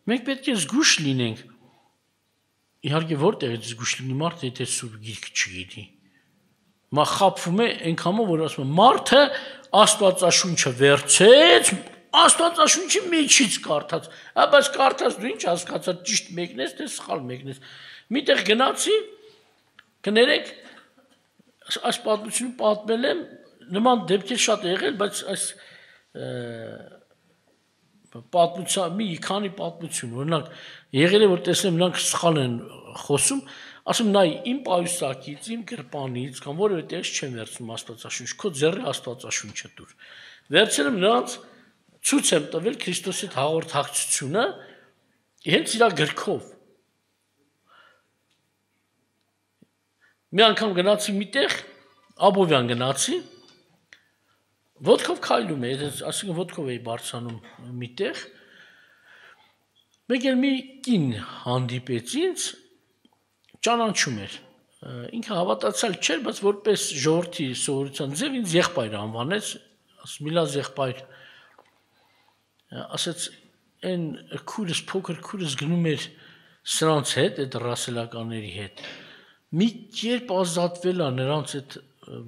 Speaker 1: մենք պետք է զգուշ լինենք։ Իհարկե որտեղից զգուշ լինի մարդը, եթե սուրբ գիրք չգիտի։ Մա խափվում է այնքանով, որ ասում է մարդը Աստվածաշունչը վերցեց, Աստվածաշունչի միջից կարդաց, հա բայց կարդաց դու ինչ հասկացար, ճիշտ մեկն ես, թե սխալ մեկն ես։ Միտեղ գնացի, կներեք, այս պատմությունը պատմել եմ, նման դեպքեր շատ եղել, բայց այս պատմության մի քանի պատմություն, օրինակ եղել է որ տեսնեմ նրանք սխալ են խոսում, ասում նայ իմ պայուսակից, իմ գրպանից կամ որևէ տեղ չեմ վերցնում Աստվածաշունչ, քո ձեռի Աստվածաշունչը դուր։ Վերցել եմ նրանց ցույց եմ տվել Քրիստոսի հաղորդակցությունը հենց իր գրքով։ Մի անգամ գնացի միտեղ, Աբովյան գնացի, ոտքով քայլում էի, ասենք ոտքով էի բարձրանում միտեղ, մեկ էլ մի կին հանդիպեց ինձ, ճանաչում էր, ինքը հավատացյալ չէր, բայց որպես ժողովրդի սովորության ձև ինձ եղբայր անվանեց, ասում միլազ եղբայր, ասեց այն քուրս, փոքր քուրս գնում էր սրանց հետ, այդ ռասելականների հետ, մի կերպ ազատվել է նրանց այդ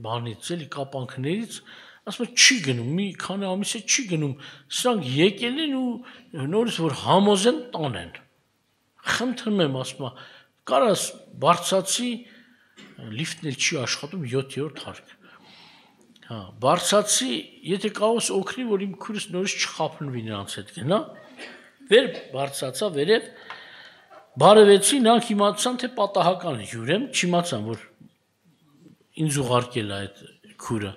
Speaker 1: բանից, էլի կապանքներից, ասում է չի գնում, մի քանի ամիս է չի գնում, սրանք եկել են ու նորից որ համոզեն տանեն։ Խնդրում եմ, ասում է, կարաս բարձացի, լիֆտն էլ չի աշխատում յոթերորդ հարկ։ Հա, բարձացի, եթե կարողս օգնի, որ իմ քուրս նորից չխափնվի նրանց հետ գնա, վեր բարձացա, վերև, բարևեցի, նրանք իմացան, թե պատահական հյուր եմ, չիմացան, որ ինձ ուղարկել է այդ քուրը։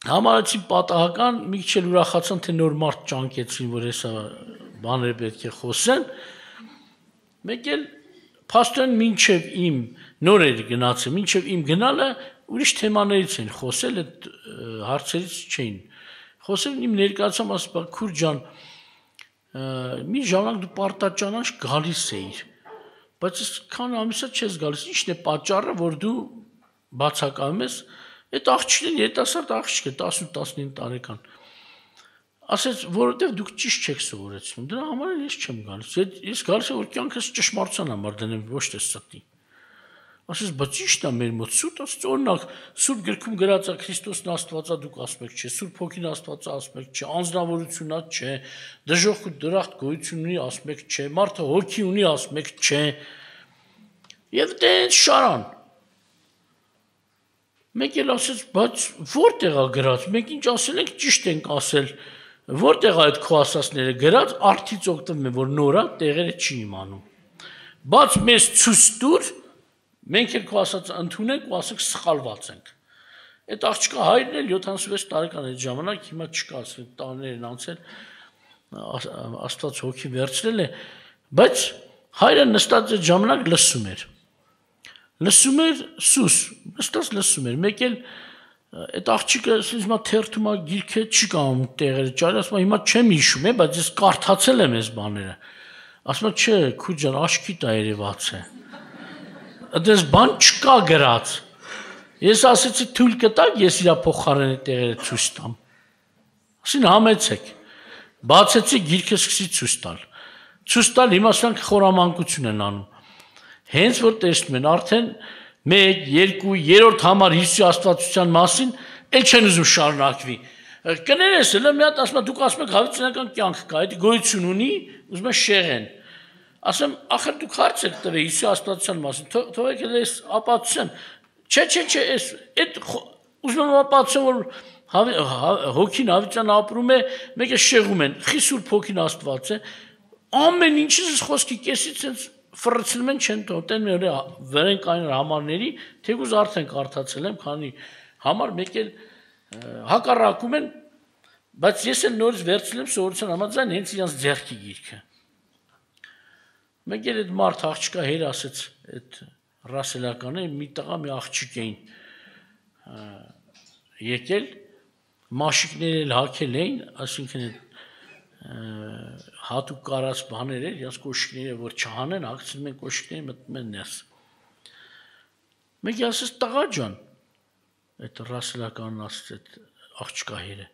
Speaker 1: Համարեցի պատահական, մի քիչ էլ ուրախացան, թե նոր մարդ ճանկեցին, որ հեսա բաներ պետք է խոսեն, մեկ էլ փաստորեն մինչև իմ նոր էր գնացել, մինչև իմ գնալը ուրիշ թեմաներից են խոսել, այդ հարցերից չէին խոսել, իմ ներկայացամ ասում, քուր ջան, մի ժամանակ դու պարտաճանաչ գալիս էիր, բայց քան ամիսա չես գալիս, ի՞նչն է պատճառը, որ դու բացակայում ես, այդ աղջիկն երիտասարդ աղջիկ է, տասուն-տասնինը տարեկան, ասեց, որովհետև դուք ճիշտ չեք սովորեցնում, դրա համար էլ ես չեմ գալիս, ես գալիս եմ, որ կյանքս ճշմարտության համար դնեմ, ոչ թե ստի։ Ասեց, բայց ճիշտ է մեր մոտ սուտ, ասեց, օրինակ, սուրբ գրքում գրած է Քրիստոսն Աստվածա դուք ասում եք չէ, Սուրբ Հոգին Աստվածա ասում եք չէ, անձնավորությունա չէ, դժոխք ու դրախտ գոյություն ունի ասում եք չէ, մարդը հոգի ունի ասում եք չէ։ Եվ դենց շարան։ Մեկ էլ ասեց, բայց որտեղ է գրած, մենք ինչ ասել ենք, ճիշտ ենք ասել, որտեղ է այդ քո ասածները գրած, արդից օգտվում է, որ նորա տեղերը չի իմանում։ Բայց մեզ ցույց տուր, մենք էլ քո ասածը ընդունենք ու ասենք սխալված ենք։ Այդ աղջկա հայրն էլ յոթանասունվեց տարեկան այդ ժամանակ, հիմա չկա, ասենք տարիներ են անցել, Աստված հոգի վերցրել է, բայց հայրը նստած այդ ժամանակ լսում էր։ Լսում էր սուս, նստած լսում էր, մեկ էլ այդ աղջիկը ասում է թերթում է գիրքը չի կանում տեղերը ճարի, ասում է հիմա չեմ հիշում է, բայց ես կարդացել եմ այս բաները։ Ասում է չէ, քույր ջան, աշկիտ է երևաց է։ Այդպես բան չկա գրած։ Ես ասեցի թույլ կտակ, ես իր փոխարեն տեղերը ցույց տամ։ Ասին համեցեք։ Բացեցի գիրքը սկսի ցույց տալ։ Ցույց տալ հիմա սրանք խորամանկություն են անում։ Հենց որ տեսնում են արդեն մեկ, երկու, երրորդ համար Հիսուսի աստվածության մասին էլ չեն ուզում շարունակվի։ Կներես էլ մի հատ ասում դուք ասում եք հավիտենական կյանք կա, այդ գոյություն ունի, ուզում են շեղեն։ Ասեմ, ախր դուք հարց եք տվել Հիսուսի աստվածության մասին, թողեք էլ այս ապացույցն։ Չէ, չէ, չէ, այս այդ ուզում եմ ապացուցեմ, որ հոգին հավիտյան ապրում է, մեկը շեղում են, խի Սուրբ Հոգին Աստված է, ամեն ինչից խոսքի կեսից sense ֆրցնում են չեն տոտեն մեր վերեն կային համարների, թեկուզ արդեն կարդացել եմ, քանի համար մեկ էլ հակառակում են, բայց ես էլ նորից վերցրել եմ սովորության համաձայն հենց իրանց ձեռքի գիրքը։ Մեկ էլ այդ մարդ աղջկա հեր ասեց, այդ ռասելականը մի տղա մի աղջիկ էին եկել, մաշիկներ էլ հագել էին, այսինքն հատուկ կարած բաներ էր, իրաց կոշիկները որ չհանեն, հագցնում են կոշիկները մտնում են ներս։ Մեկի ասես տղա ջան, այդ ռասլականն ասեց այդ աղջկա հերը։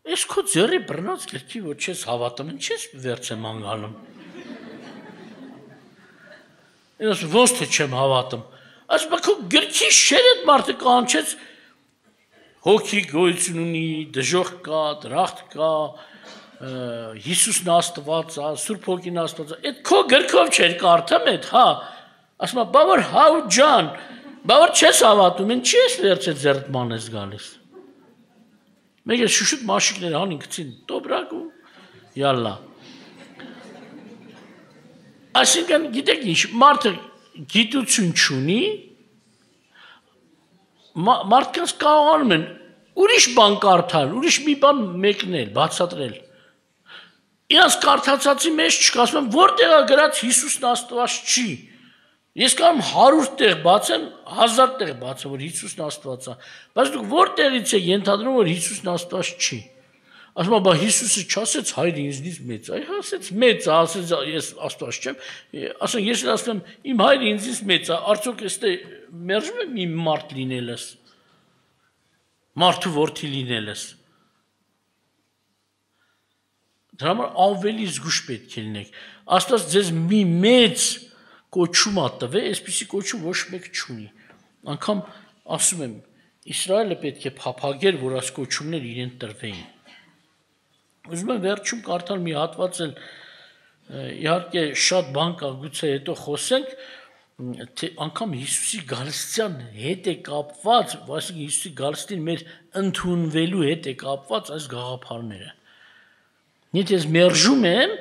Speaker 1: Այս քո ձեռի բռնած գրքի որ չես հավատում, ինչ ես վերջ եմ անգանում։ Ես ոնց թե չեմ հավատում։ Ասում քո գրքի շեր այդ մարդը կանչեց հոգի գոյություն ունի, դժոխք կա, դրախտ կա, Հիսուսն Աստված է, Սուրբ Հոգին Աստված է։ Այդ քո գրքով չէր կարդամ այդ, հա։ Ասում եմ, բա որ հավ ջան, բա որ չես հավատում, ինչի ես վերջ այդ ձեռտման ես գալիս։ Մեկը շուշուտ մաշիկները հանին գցին, տոբրակ ու յալլա։ Այսինքն գիտեք ինչ, մարդը գիտություն չունի, մարդկանց կարողանում են ուրիշ բան կարդալ, ուրիշ մի բան մեկնել, բացատրել։ Իրանց կարդացածի մեջ չկա, ասում եմ, որտեղ է գրած Հիսուսն Աստված չի։ Ես կարող եմ հարյուր տեղ բացեմ, հազար տեղ բացեմ, որ Հիսուսն Աստված է, բայց դուք որտեղից եք ենթադրում, որ Հիսուսն Աստված չի։ Ասում եմ, բա Հիսուսը չասեց հայր ինձնից մեծ, այ ասեց մեծ, ասեց ես Աստված չեմ, ասեն ես ասում եմ, իմ հայրը ինձից մեծ է, արդյոք էստե մերժում եմ իմ մարդ լինելս։ Մարդու որդի լինելս։ Դրա համար ավելի զգուշ պետք է լինեք։ Աստված ձեզ մի մեծ կոչում ա տվել, այսպիսի կոչում ոչ մեկ չունի։ Անկամ ասում եմ, Իսրայելը պետք է փափագեր, որ այս կոչումներ իրեն տրվեին։ Ուզում եմ վերջում կարդալ մի հատված էլ, իհարկե շատ բան կա, գուցե հետո խոսենք, թե անգամ Հիսուսի գալստյան հետ է կապված, այսինքն Հիսուսի գալստին մեր ընդունվելու հետ է կապված այս գաղափարները։ Եթե ես մերժում եմ,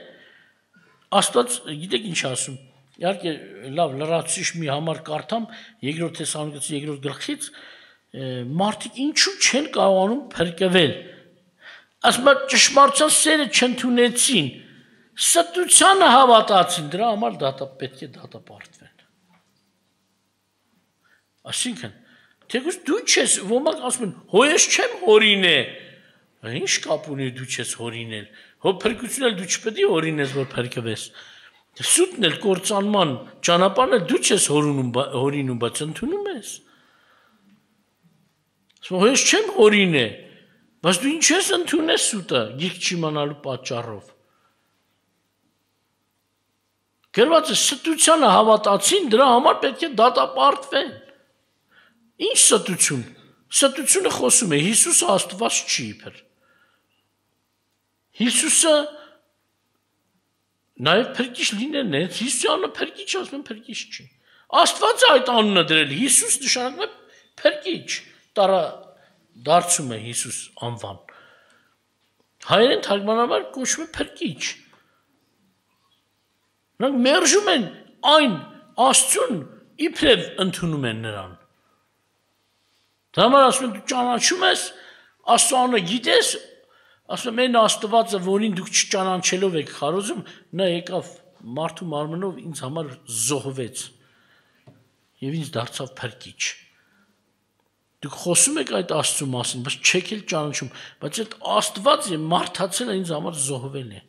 Speaker 1: Աստված գիտեք ինչ ասում, իհարկե լավ լրացուցիչ մի համար կարդամ երկրորդ Թեսաղոնիկացիս երկրորդ գլխից, մարդիկ ինչու չեն կարողանում փրկվել։ Ասում եմ ճշմարտության սերը չընդունեցին, ստությանը հավատացին, դրա համար դատա պետք է դատապարտվեն։ Այսինքն, թեկուզ դու չես, ոմանք ասում են, հո ես չեմ հորինե, ինչ կապ ունի դու չես հորինել, հո փրկություն էլ դու չպետք է հորինես, որ փրկվես, սուտն էլ կործանման ճանապարհն էլ դու չես հորինում, բայց ընդունում ես։ Հո ես չեմ հորինե, բայց դու ինչ ես ընդունես սուտը, գիրք չիմանալու պատճառով։ Գրված է ստությանը հավատացին, դրա համար պետք է դատապարտվեն։ Ինչ ստություն։ Ստությունը խոսում է Հիսուսը Աստված չի իբր։ Հիսուսը նաև փրկիչ լինելն է, Հիսուսի անունը փրկիչ ասում են փրկիչ չի։ Աստված է այդ անունը դրել, Հիսուս նշանակում է փրկիչ, տարա դարձում է Հիսուս անվան։ Հայերեն թարգմանաբար կոչվում է փրկիչ։ Նրանք մերժում են այն Աստծուն, իբրև ընդունում են նրան։ Դրա համար ասում են դու ճանաչում ես, Աստծո անունը գիտես, ասում են այն Աստվածը, որին դուք չճանաչելով եք խարոզում, նա եկավ մարդու մարմնով ինձ համար զոհվեց եւ ինձ դարձավ փրկիչ։ Դուք խոսում եք այդ Աստծո մասին, բայց չեք էլ ճանաչում, բայց այդ Աստվածը մարդացել է ինձ համար զոհվել է։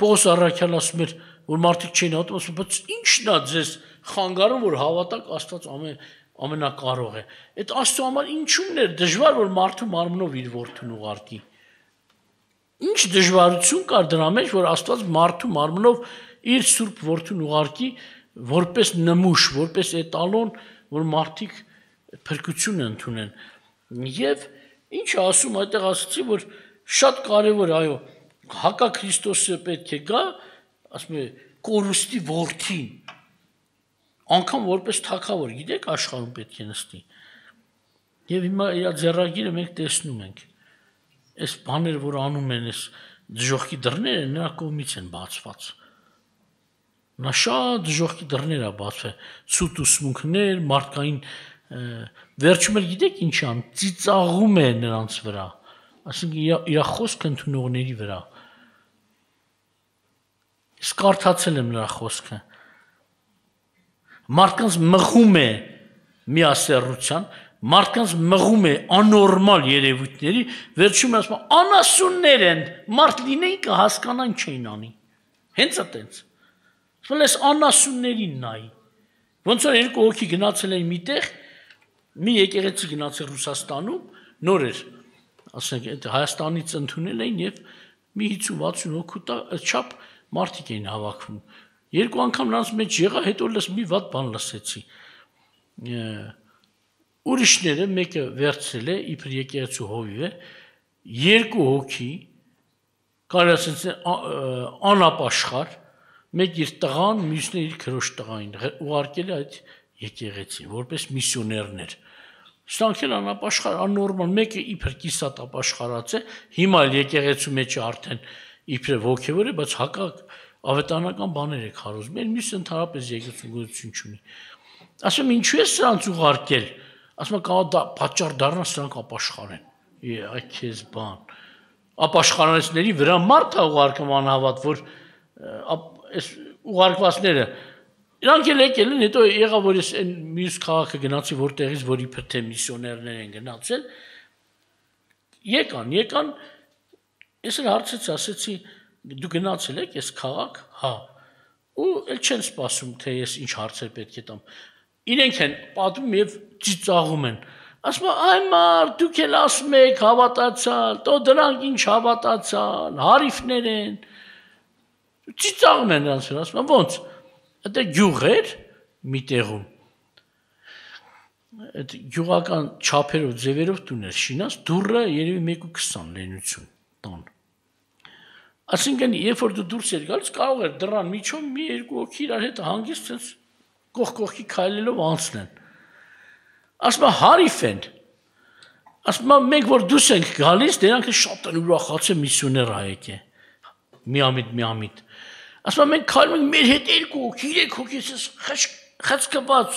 Speaker 1: Պողոս առաքյալն ասում էր, որ մարդիկ չէին հավատում, ասում, բայց ի՞նչն է ձեզ խանգարում, որ հավատաք Աստված ամեն ամենակարող է։ Այդ Աստծո համար ինչու՞մն էր դժվար, որ մարդու մարմնով իր որդուն ուղարկի։ Ինչ դժվարություն կար դրա մեջ, որ Աստված մարդու մարմնով իր սուրբ որդուն ուղարկի, որպես նմուշ, որպես էտալոն, որ մարդիկ փրկություն ընդունեն։ Եվ ինչ ասում, այդտեղ ասացի, որ շատ կարևոր, այո, հակա Քրիստոսը պետք է գա, ասում է, կորուստի որդին, անգամ որպես թագավոր, գիտեք աշխարհում պետք է նստի։ Եվ հիմա իր ձեռագիրը մենք տեսնում ենք, այս բաները, որ անում են, այս դժոխքի դռները նրա կողմից են բացված։ Նա շատ դժոխքի դռներ է բացվել, ցույց ուսմունքներ, մարդկային վերջում էլ գիտեք ինչ ան, ծիծաղում է նրանց վրա, այսինքն իր խոսքը ընդունողների վրա։ Իսկ կարդացել եմ նրա խոսքը։ Մարդկանց մղում է միասեռության, մարդկանց մղում է աննորմալ երևույթների, վերջում ասում անասուններ են, մարդ լինեին կհասկանան չէին անի։ Հենց այդպես։ Ասում ես անասուններին նայի։ Ոնց որ երկու հոգի գնացել են միտեղ, մի եկեղեցի գնացել Ռուսաստանում, նոր էր, ասենք այդ Հայաստանից ընդունել էին եւ մի հիսուն վաթսուն հոգու չափ մարդիկ էին հավաքվում։ Երկու անգամ նրանց մեջ եղա, հետո լս մի վատ բան լսեցի։ Ուրիշները մեկը վերցրել է, իբր եկեղեցու հովիվ է, երկու հոգի, կարելի ասել անապաշխար, մեկ իր տղան, մյուսն իր քրոջ տղային, ուղարկել է այդ եկեղեցին, որպես միսիոներներ։ Ստանքել անապաշխար, աննորմալ, մեկը իբր կիսատ ապաշխարած է, հիմա էլ եկեղեցու մեջ արդեն իբր ոգևոր է, բայց հակակ ավետարանական բաներ է քարոզում, էլ մյուսը ընդհանրապես եկեղեցու գոյություն չունի։ Ասում ինչու է սրանց ուղարկել, ասում կարող պատճառ դառնա սրանք ապաշխարեն։ Այ քեզ բան։ Ապաշխարանիչների վրա մարդ է ուղարկում անհավատ, որ այս ուղարկվածները իրանք էլ եկել են, հետո եղավ որ ես այն մյուս քաղաքը գնացի, որտեղից որ իբր թե միսիոներներ են գնացել, եկան, եկան, ես էլ հարցեցի, ասեցի, դու գնացել եք այս քաղաք, հա, ու էլ չեն սպասում, թե ես ինչ հարցեր պետք է տամ, իրենք են պատմում և ծիծաղում են, ասում այ մարդ, դուք էլ ասում եք հավատացալ, տո դրանք ինչ հավատացալ, հարիվներ են, ծիծաղում են նրանց վրա, ասում ոնց, այդ գյուղ էր մի տեղում, այդ գյուղական չափերով, ձևերով տուն էր շինած, դուռը երևի մեկ ու քսան լենություն տան։ Այսինքն, երբ որ դու դուրս էր գալիս, կարող էր դռան միջով մի երկու հոգի իրար հետ հանգիստ sense կողք-կողքի քայլելով անցնեն։ Ասում հարիվ են։ Ասում մենք որ դուրս ենք գալիս, դրանք շատ են ուրախացել միսիոներ հայեք է։ Միամիտ, միամիտ։ Ասում մենք քայլում ենք մեր հետ երկու հոգի, երեք հոգի, խցկված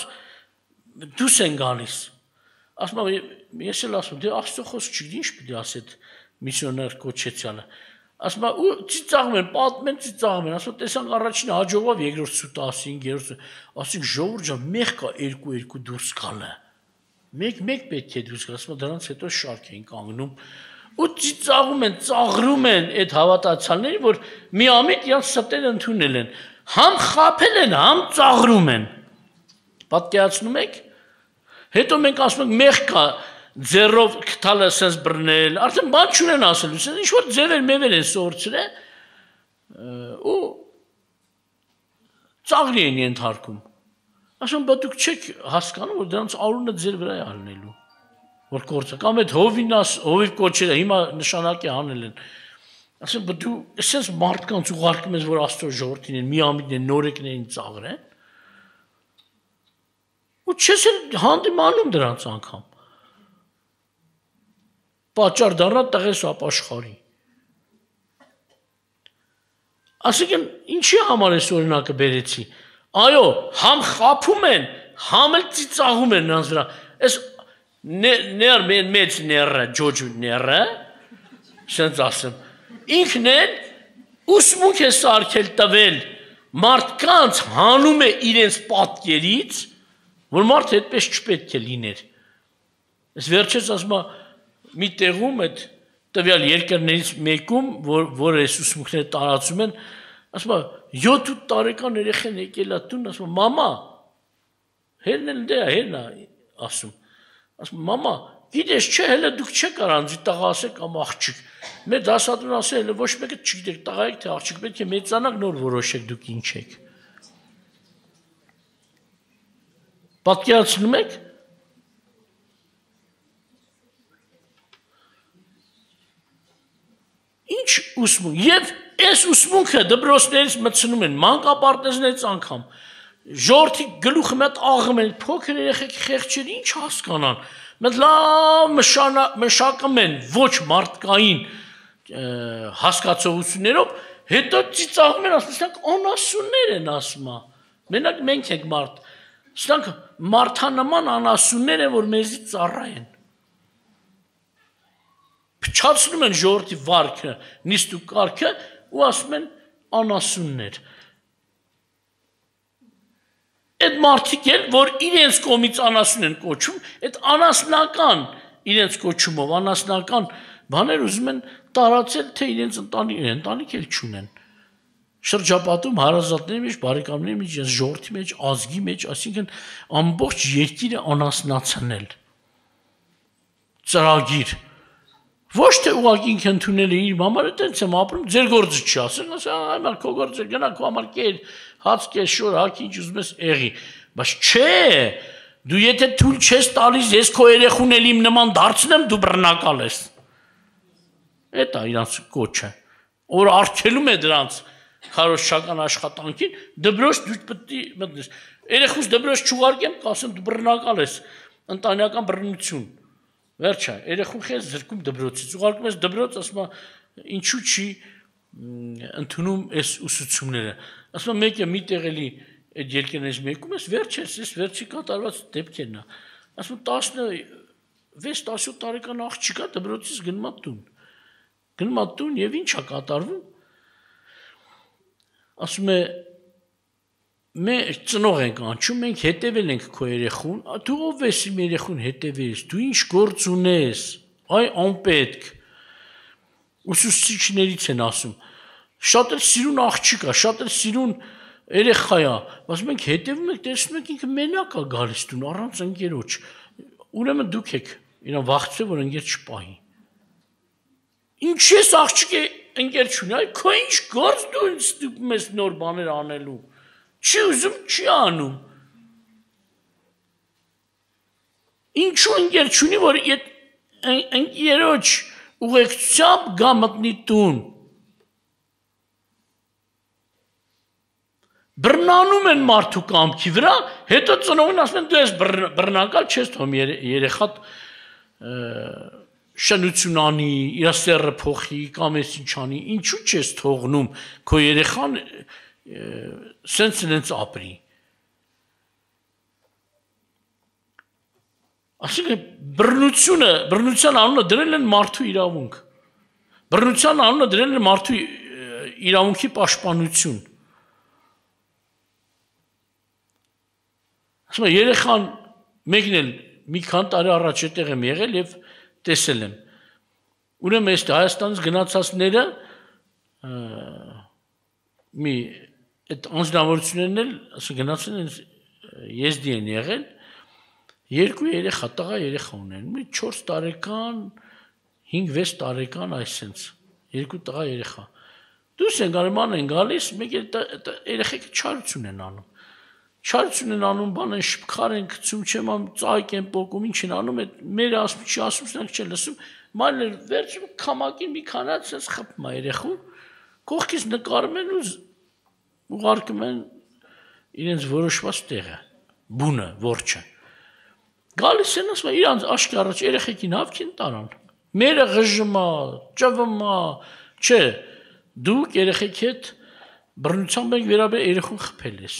Speaker 1: դուրս են գալիս։ Ասում ես էլ ասում, դե Աստծո խոսք չգիտի ինչ պիտի ասի այդ միսիոներ կոչեցյալը։ Ասում ու ծիծաղում են, պատմեն ծիծաղում են, ասում տեսանք առաջին հաջողով երկրորդ սուտ ասին, երրորդ, ասին ժողովուրդ ջան, մեկ կա երկու-երկու դուրս գալը։ Մեկ-մեկ պետք է դուրս գալ, ասում դրանց հետո շարք էին կանգնում։ Ու ծիծաղում են, ծաղրում են այդ հավատացյալներին, որ միամիտ իրանց ստերը ընդունել են, համ խաբել են, համ ծաղրում են։ Պատկերացնում եք։ Հետո մենք ասում ենք մեղ կա ձեռով քթալը sense բռնել, արդեն բան չունեն ասելու, sense ինչ որ ձևեր մևեր են սորցրել ու ծաղրի են ենթարկում։ Ասում բա դուք չեք հասկանում, որ դրանց արունը ձեր վրա է ալնելու, որ կործը, կամ այդ հովին հովիվ կոչերը հիմա նշանակի անել են։ Ասում բա դու sense մարդկանց ուղարկում ես, որ Աստծո ժողովրդին են, միամիտն են, նորեկներին ծաղրեն։ Ու չես էլ հանդիմանում դրանց անգամ։ Պատճառ դառնա տղես ապաշխարի։ Այսինքն ինչի համար այս օրինակը բերեցի։ Այո, համ խափում են, համ էլ ծիծաղում են նրանց վրա։ Այս ներ մեծ ները, ջոջ ները, sense ասեմ, ինքն էլ ուսմունք է սարքել տվել մարդկանց հանում է իրենց պատկերից, որ մարդը այդպես չպետք է լիներ։ Այս վերջերս ասում է մի տեղում այդ տվյալ երկրներից մեկում, որ այս ուսմունքները տարածում են, ասում է յոթ տարեկան երեխան եկել է տուն, ասում է մամա, հերն էլ դե հերն է ասում, ասում մամա, գիտես չէ, հələ դուք չեք առանձի տղա ասեք կամ աղջիկ, մեր դասատուն ասել հələ ոչ մեկը չգիտեք տղա եք թե աղջիկ, պետք է մեծանաք նոր որոշեք դուք ինչ եք։ Պատկերացնում եք։ Ինչ ուսմունք, և այս ուսմունքը դպրոցներից մտցնում են, մանկապարտեզներից անգամ, ժողովրդի գլուխը մեծ աղում են, փոքր երեխեք խեղճեր ինչ հասկանան, մեծ լավ մշակում են ոչ մարդկային հասկացողություններով, հետո ծիծաղում են, ասում սրանք անասուններ են ասում, մենակ մենք ենք մարդ, սրանք մարդանման անասուններ են, որ մեզի ծառա են։ Փչացնում են ժողովրդի վարքը, նիստ ու կարգը ու ասում են անասուններ։ այդ մարդիկ էլ, որ իրենց կողմից անասուն են կոչում, այդ անասնական իրենց կոչումով, անասնական բաներ ուզում են տարածել, թե իրենց ընտանիք, ընտանիք էլ չունեն։ Շրջապատում հարազատների մեջ, բարեկամների մեջ, ժողովրդի մեջ, ազգի մեջ, այսինքն ամբողջ երկիրը անասնացնել։ Ծրագիր։ Ոչ թե ուղղակի ինքը ընդունել է իր համար, այտենց եմ ապրում, ձեր գործը չի ասել, ասել, այ քո գործը գնա քո համար կեր, հաց կես, շոր, հաքի ինչ ուզում ես եղի, բայց չէ, դու եթե թույլ չես տալիս, ես քո երեխուն էլ իմ նման դարձնեմ, դու բռնակալ ես։ Էդ է իրանց կոչը, որ արգելում է դրանց քարոզչական աշխատանքին, դպրոց դու պետք է մտնես։ Երեխուս դպրոց չուղարկեմ, կասեմ դու բռնակալ ես, ընտանեկան բռնություն։ Վերջը, երեխուն քեզ զրկում դպրոցից, ուղարկում ես դպրոց, ասում է, ինչու չի ընդունում այս ուսուցումները։ Ասում է, մեկը մի տեղ էլի այդ երկրներից մեկում ես, վերջ ես, ես վերջի կատարված դեպքերն է։ Ասում վեց տասնյոթ տարեկան աղջիկա դպրոցից գնում է տուն։ Գնում է տուն եւ ի՞նչ է կատարվում։ Ասում է մենք ծնող ենք անչում, մենք հետևել ենք քո երեխուն, դու ով ես իմ երեխուն հետևես, դու ինչ գործ ունես, այ անպետք։ Ուսուցիչներից են ասում, շատ էլ սիրուն աղջիկ է, շատ էլ սիրուն երեխա է, բայց մենք հետևում ենք, տեսնում ենք ինքը մենակ է գալիս տուն, առանց ընկերոջ, ուրեմն դուք եք իրան վախեցել, որ ընկեր չպահի։ Ինչ ես աղջիկ է ընկեր չունի, այ քո ինչ գործ դու ինձ ստիպում ես նոր բաներ անելու։ Չի ուզում, չի անում։ Ինչու ընկեր չունի, որ ընկերոջ ուղեկցությամբ գա մտնի տուն։ Բռնանում են մարդու կամքի վրա, հետո ծնողին ասում են դու ես բռնակալ չես թողում երեխատ շնություն անի, իր սերը փոխի, կամ ես ինչ անի, ինչու չես թողնում քո երեխան սենց սենց ապրի։ Այսինքն բռնությունը, բռնության անունը դրել են մարդու իրավունք։ Բռնության անունը դրել են մարդու իրավունքի պաշտպանություն։ Ասում եմ երեխան մեկն էլ մի քանի տարի առաջ այդտեղ եմ եղել եւ տեսել եմ։ Ուրեմն այս Հայաստանից գնացածները մի այդ անձնավորություններն էլ, ասա գնացել են եզդի են եղել, երկու երեխա, տղա երեխա ունեն, մի չորս տարեկան, հինգ-վեց տարեկան այսենց, երկու տղա երեխա։ Դուրս են գարման են գալիս, մեկ երեխեքը չարություն են անում։ Չարություն են անում, բան են շփքար են գցում, չեմ անում, ծայք են պոկում, ինչ են անում, մեր ասում, չի ասում, սրանք չեն լսում, մանր վերջում քամակին մի քանած sense խփում է երեխուն, կողքից նկարում են ու ուղարկում են իրենց որոշված տեղը, բունը, որջը։ Գալիս են ասում, իրանց աշկի առաջ երեխեքին հավքին տարան։ Մերը ղժմա, ճվմա, չէ, դուք երեխեք հետ բռնությամբ եք վերաբերել երեխուն խփել ես։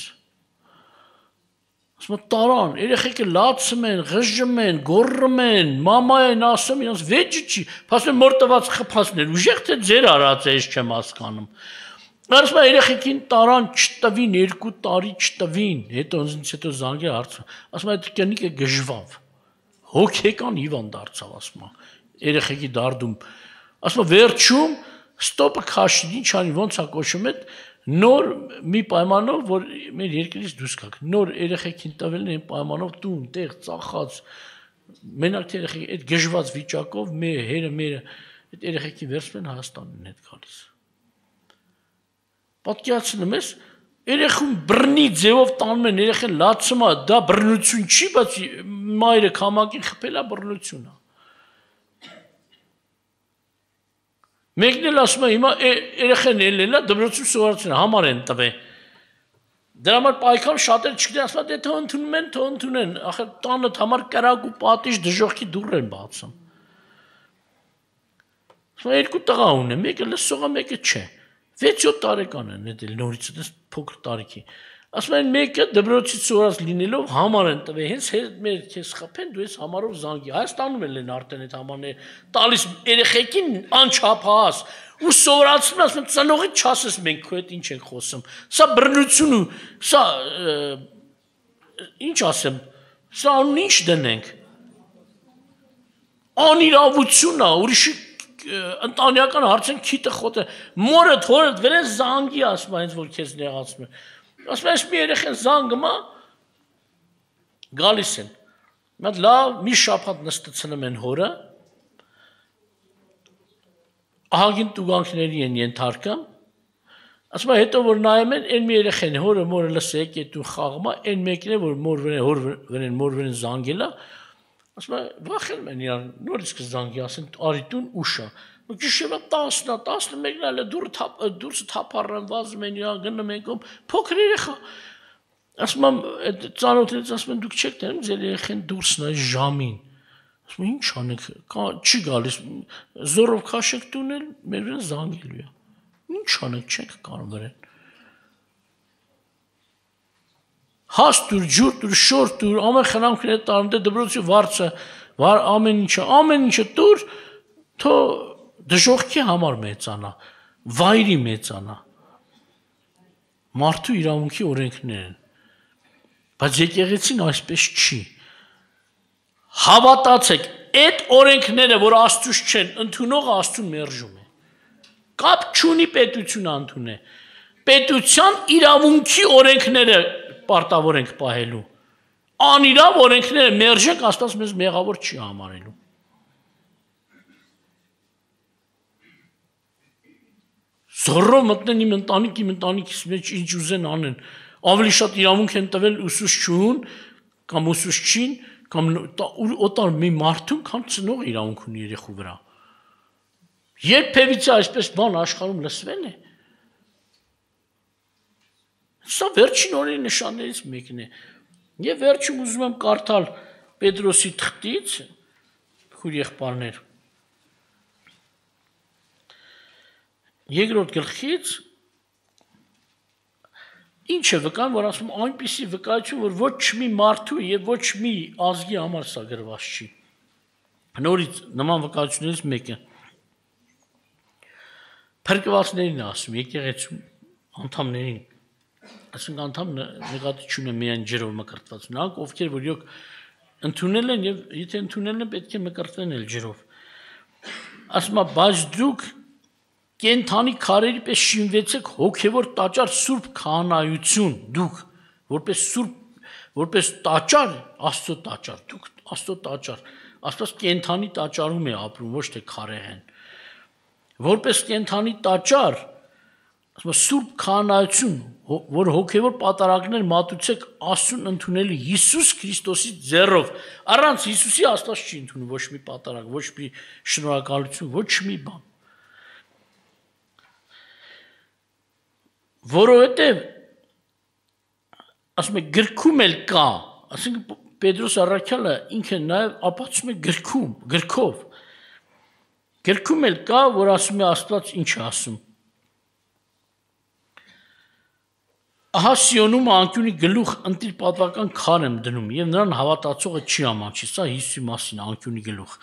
Speaker 1: Ասում տարան, երեխեքը լացում են, ղժում են, գոռում են, մամա են ասում, իրանց վեճը չի, ասում մոր տված խփածներ, ուժեղ թե ձեր արած է, ես չեմ հասկանում։ Ասում երեխեքին տարան չտվին, երկու տարի չտվին, հետո ինձ հետո զանգել հարցը։ Ասում այդ կնիկը գժվավ։ Հոգեկան հիվանդ դարձավ, ասում երեխեքի դարդում։ Ասում վերջում ստոպը քաշի, ինչ անի, ոնց է կոչում այդ նոր մի պայմանով, որ մեր երկրից դուրս գաք, նոր երեխեքին տվել են պայմանով տուն, տեղ, ծախած, մենակ թե երեխեքի այդ գժված վիճակով մեր հերը մերը այդ երեխեքի վերցնում են Հայաստանին հետ գալիս։ Պատկերացնում ես, երեխուն բռնի ձևով տանում են, երեխան լացում է, դա բռնություն չի, բայց մայրը քամակին խփել է բռնություն է։ Մեկն էլ ասում է, հիմա երեխեն ելնելա, դպրոցում սովորացին համար են տվել։ Դրա համար պայքար շատեր չգիտեն, ասում է, դե թող ընդունում են, թող ընդունեն, ախր տանդ համար կրակ ու պատիժ դժոխքի դուռ են բացում։ Ասում է, երկու տղա ունեմ, մեկը լսող է, մեկը չէ։ վեց-յոթ տարեկան են, դա նորից դա փոքր տարիքի։ Ասում են մեկը դպրոցից սովորած լինելով համար են տվել, հենց մեր քեզ խփեն, դու ես համարով զանգի։ Հայաստանում են արդեն այդ համարները տալիս երեխեքին անչափահաս ու սովորացնում, ասում են ծնողի չասես մենք քո հետ ինչ ենք խոսում։ Սա բռնություն ու սա ինչ ասեմ, սա անուն ինչ դնենք։ Անիրավություն է, ուրիշի ընտանեկան հարցեն քիթը խոտ է, մորը թորը վերեն զանգի ասում է, հենց որ քեզ նեղացում է։ Ասում է, այս մի երեխեն զանգում է, գալիս են։ Մատ լավ, մի շաբաթ նստեցնում են հորը, ահագին տուգանքների են ենթարկում, ասում է, հետո որ նայում են, այն մի երեխեն հորը մորը լսե եկետու խաղում է, այն մեկն է, որ մոր վրեն, հոր վրեն, մոր վրեն զանգել է, ասում է, վախենում են իրան, նորից կզանգի, ասեն, արի տուն ուշա, գիշերը տասնա, տասնմեկն էլ է դուրսը թափառան, վազում են իրան, գնում են կոմ, փոքր երեխա, ասում եմ, ծանոթներից ասում են, դուք չեք տենում, ձեր երեխեն դուրսն է ժամին, ասում եմ, ինչ անեք, չի գալիս, զորով քաշեք տունել, մեր վրան զանգելու է, ինչ անեք, չենք կարող վրեն, հաս դուր, ջուր դուր, շոր դուր, ամեն խնամքն է տարն դե դբրոցի վարձը, ամեն ինչը, ամեն ինչը դուր, թո դժողքի համար մեծանա, վայրի մեծանա, մարդու իրավունքի օրենքներ են, բայց եկեղեցին այսպես չի, հավատացեք, այդ օրենքները, որ Աստծուց չեն, ընդունողը Աստծուն մերժում է, կապ չունի պետությունը ընդունե, պետության իրավունքի օրենքները պարտավոր ենք պահելու, անիրավ օրենքները մերժենք, Աստված մեզ մեղավոր չի համարելու։ Զորով մտնեն իմ ընտանիք, իմ ընտանիքից մեջ ինչ ուզեն անեն, ավելի շատ իրավունք են տվել ուսուցչուն, կամ ուսուցչին, կամ օտար մի մարդուն, քան ծնող իրավունք ունի երեխու վրա։ Երբևիցե այսպես բան աշխարհում լսվել է։ Սա վերջին օրերի նշաններից մեկն է։ Եվ վերջում ուզում եմ կարդալ Պետրոսի թղթից, քույր եղբայրներ, երկրորդ գլխից, ինչ է վկան, որ ասում այնպիսի վկայություն, որ ոչ մի մարդու եւ ոչ մի ազգի համար սա գրված չի։ Նորից նման վկայություններից մեկը փրկվածներին ասում, եկեղեցու անդամներին, ասենք անդամ նեղատի չունեն միայն ջրով մկրտված, նրանք ովքեր որ յոք ընդունել են եւ եթե ընդունել են պետք է մկրտվեն էլ ջրով։ Ասում է, բայց դուք կենթանի քարերի պես շինվեցեք հոգևոր տաճար սուրբ քահանայություն, դուք որպես սուրբ, որպես տաճար, Աստծո տաճար, դուք Աստծո տաճար, Աստված կենթանի տաճարում է ապրում, ոչ թե քարեղեն։ Որպես կենթանի տաճար, ասում է սուրբ քահանայություն, որ հոգևոր պատարագներ մատուցեք Աստծուն ընդունելի Հիսուս Քրիստոսի ձեռով, առանց Հիսուսի Աստված չի ընդունում ոչ մի պատարագ, ոչ մի շնորհակալություն, ոչ մի բան։ Որովհետև ասում է գրքում էլ կա, ասենք Պետրոս առաքյալը ինքը նաև ապացուցում է գրքում, գրքով։ Գրքում էլ կա, որ ասում է Աստված ինչ է ասում։ Ահա Սիոնում անկյունի գլուխ ընտիր պատվական քար եմ դնում եւ նրան հավատացողը չի ամանչի, սա Հիսուսի մասին անկյունի գլուխ։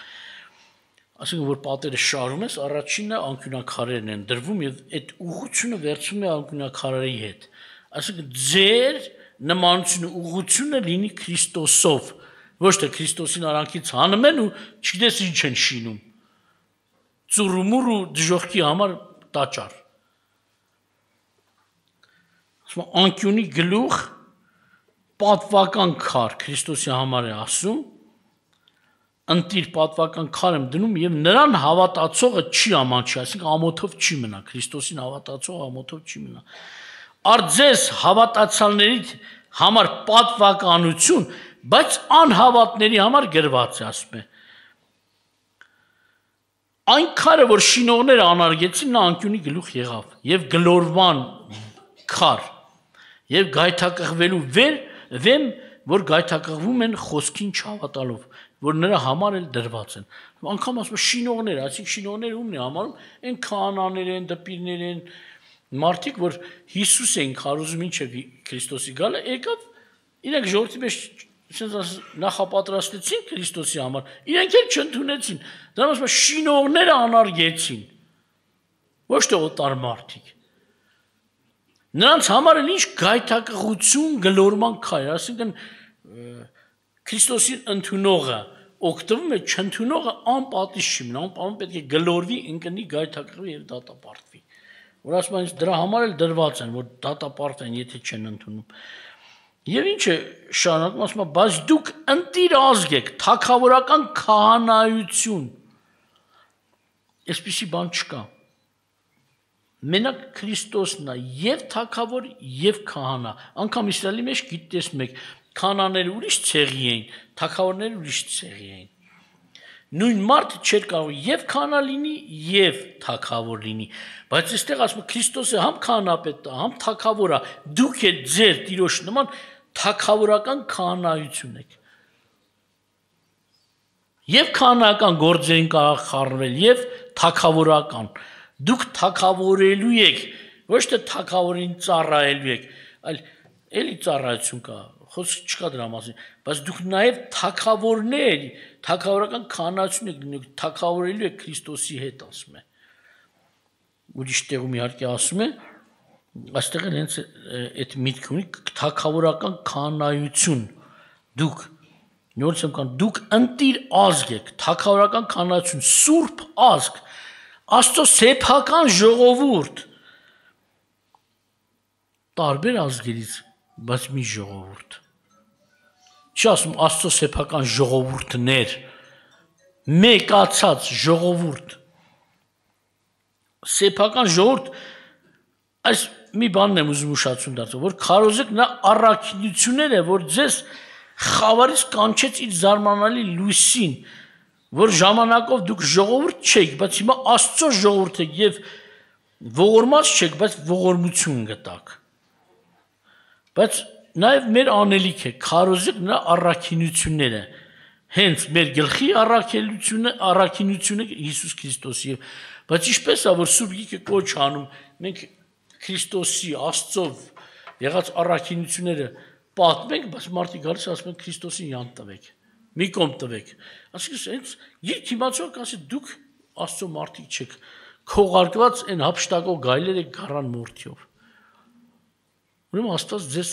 Speaker 1: Ասենք որ պատերը շարում ես, առաջինը անկյունակարերն են դրվում եւ այդ ուղղությունը վերցում է անկյունակարերի հետ։ Ասենք ձեր նմանությունը ուղղությունը լինի Քրիստոսով, ոչ թե Քրիստոսին արանքից հանում են ու չգիտես ինչ են շինում։ Ծուրումուր ու դժողքի համար տաճար։ Ասում անկյունի գլուխ պատվական քար Քրիստոսի համար է ասում, ընտիր պատվական քար եմ դնում եւ նրան հավատացողը չի ամանչի, այսինքն ամոթով չի մնա, Քրիստոսին հավատացողը ամոթով չի մնա։ Արձես հավատացյալների համար պատվականություն, բայց անհավատների համար գրված է, ասում է։ Այն քարը, որ շինողները անարգեցին, նա անկյունի գլուխ եղավ եւ գլորվան քար եւ գայթակղվելու վեր վեմ, որ գայթակղվում են խոսքին չհավատալով, որ նրա համար էլ դրված են։ Անկամ ասում շինողներ, այսինքն շինողները ումն է համարում, այն քահանաներ են, դպիրներ են, մարդիկ, որ Հիսուս են քարոզում ինչ է Քրիստոսի գալը, եկավ իրենք ժողովրդի մեջ ասես նախապատրաստեցին Քրիստոսի համար, իրենք էլ չընդունեցին։ Դրանց ասում շինողները անարգեցին, ոչ թե օտար մարդիկ։ Նրանց համար էլ ինչ գայթակղություն գլորման քայլ, այսինքն Քրիստոսին ընդունողը օգտվում է, չընդունողը անպատիժ չի մնա, անպատիժ պետք է գլորվի, ընկնի, գայթակղվի եւ դատապարտվի։ Որ ասում են, դրա համար էլ դրված են, որ դատապարտեն, եթե չեն ընդունում։ Եվ ինչ է շարունակում, ասում է, բայց դուք ընտիր ազգ եք, թագավորական քահանայություն։ Այսպիսի բան չկա։ Մենակ Քրիստոսն է եւ թագավոր եւ քահանա։ Անկամ Իսրայելի մեջ գիտես մեկ քահանաները ուրիշ ցեղի էին, թագավորները ուրիշ ցեղի էին։ Նույն մարդը չէր կարող եւ քահանա լինի եւ թագավոր լինի, բայց այստեղ ասում է Քրիստոսը համ քահանապետ է, համ թագավոր է, դուք եք ձեր Տիրոջ նման թագավորական քահանայություն եք։ Եվ քահանական գործերին կարող խառնվել եւ թագավորական։ Դուք թագավորելու եք, ոչ թե թագավորին ծառայելու եք, այլ էլի ծառայություն կա, խոսք չկա դրա մասին, բայց դուք նաև թագավորներ, թագավորական քահանայություն եք լինում, թագավորելու եք Քրիստոսի հետ, ասում է։ Ուրիշ տեղում իհարկե ասում է, այստեղ էլ հենց այդ միտքը ունի թագավորական քահանայություն, դուք նորից եմ կան, դուք ընտիր ազգ եք, թագավորական քահանայություն, սուրբ ազգ, Աստծո սեփական ժողովուրդ, տարբեր ազգերից, բայց մի ժողովուրդ։ Չի ասում Աստծո սեփական ժողովուրդներ, մեկացած ժողովուրդ։ Սեփական ժողովուրդ, այս մի բանն եմ ուզում ուշացում դարձնել, որ քարոզեք նա առաքինություններ է, որ ձեզ խավարից կանչեց իր զարմանալի լույսին, որ ժամանակով դուք ժողովուրդ չեք, բայց հիմա Աստծո ժողովուրդ եք եւ ողորմած չեք, բայց ողորմություն գտաք։ Բայց նաեւ մեր անելիք է, քարոզեք նա առաքինությունները, հենց մեր գլխի առաքելությունը, առաքինությունը Հիսուս Քրիստոսի, բայց ինչպես է որ Սուրբ Գիրքը կոչ անում, մենք Քրիստոսի Աստծով եղած առաքինությունները պատմենք, բայց մարդիկ գալիս ասում են Քրիստոսին յան տվեք։ Մի կողմ տվեք։ Այսինքն հենց երբ իմացող կասի դուք Աստծո մարդիկ չեք, քողարկված այն հափշտակող գայլերը գառան մորթիով։ Ուրեմն Աստված ձեզ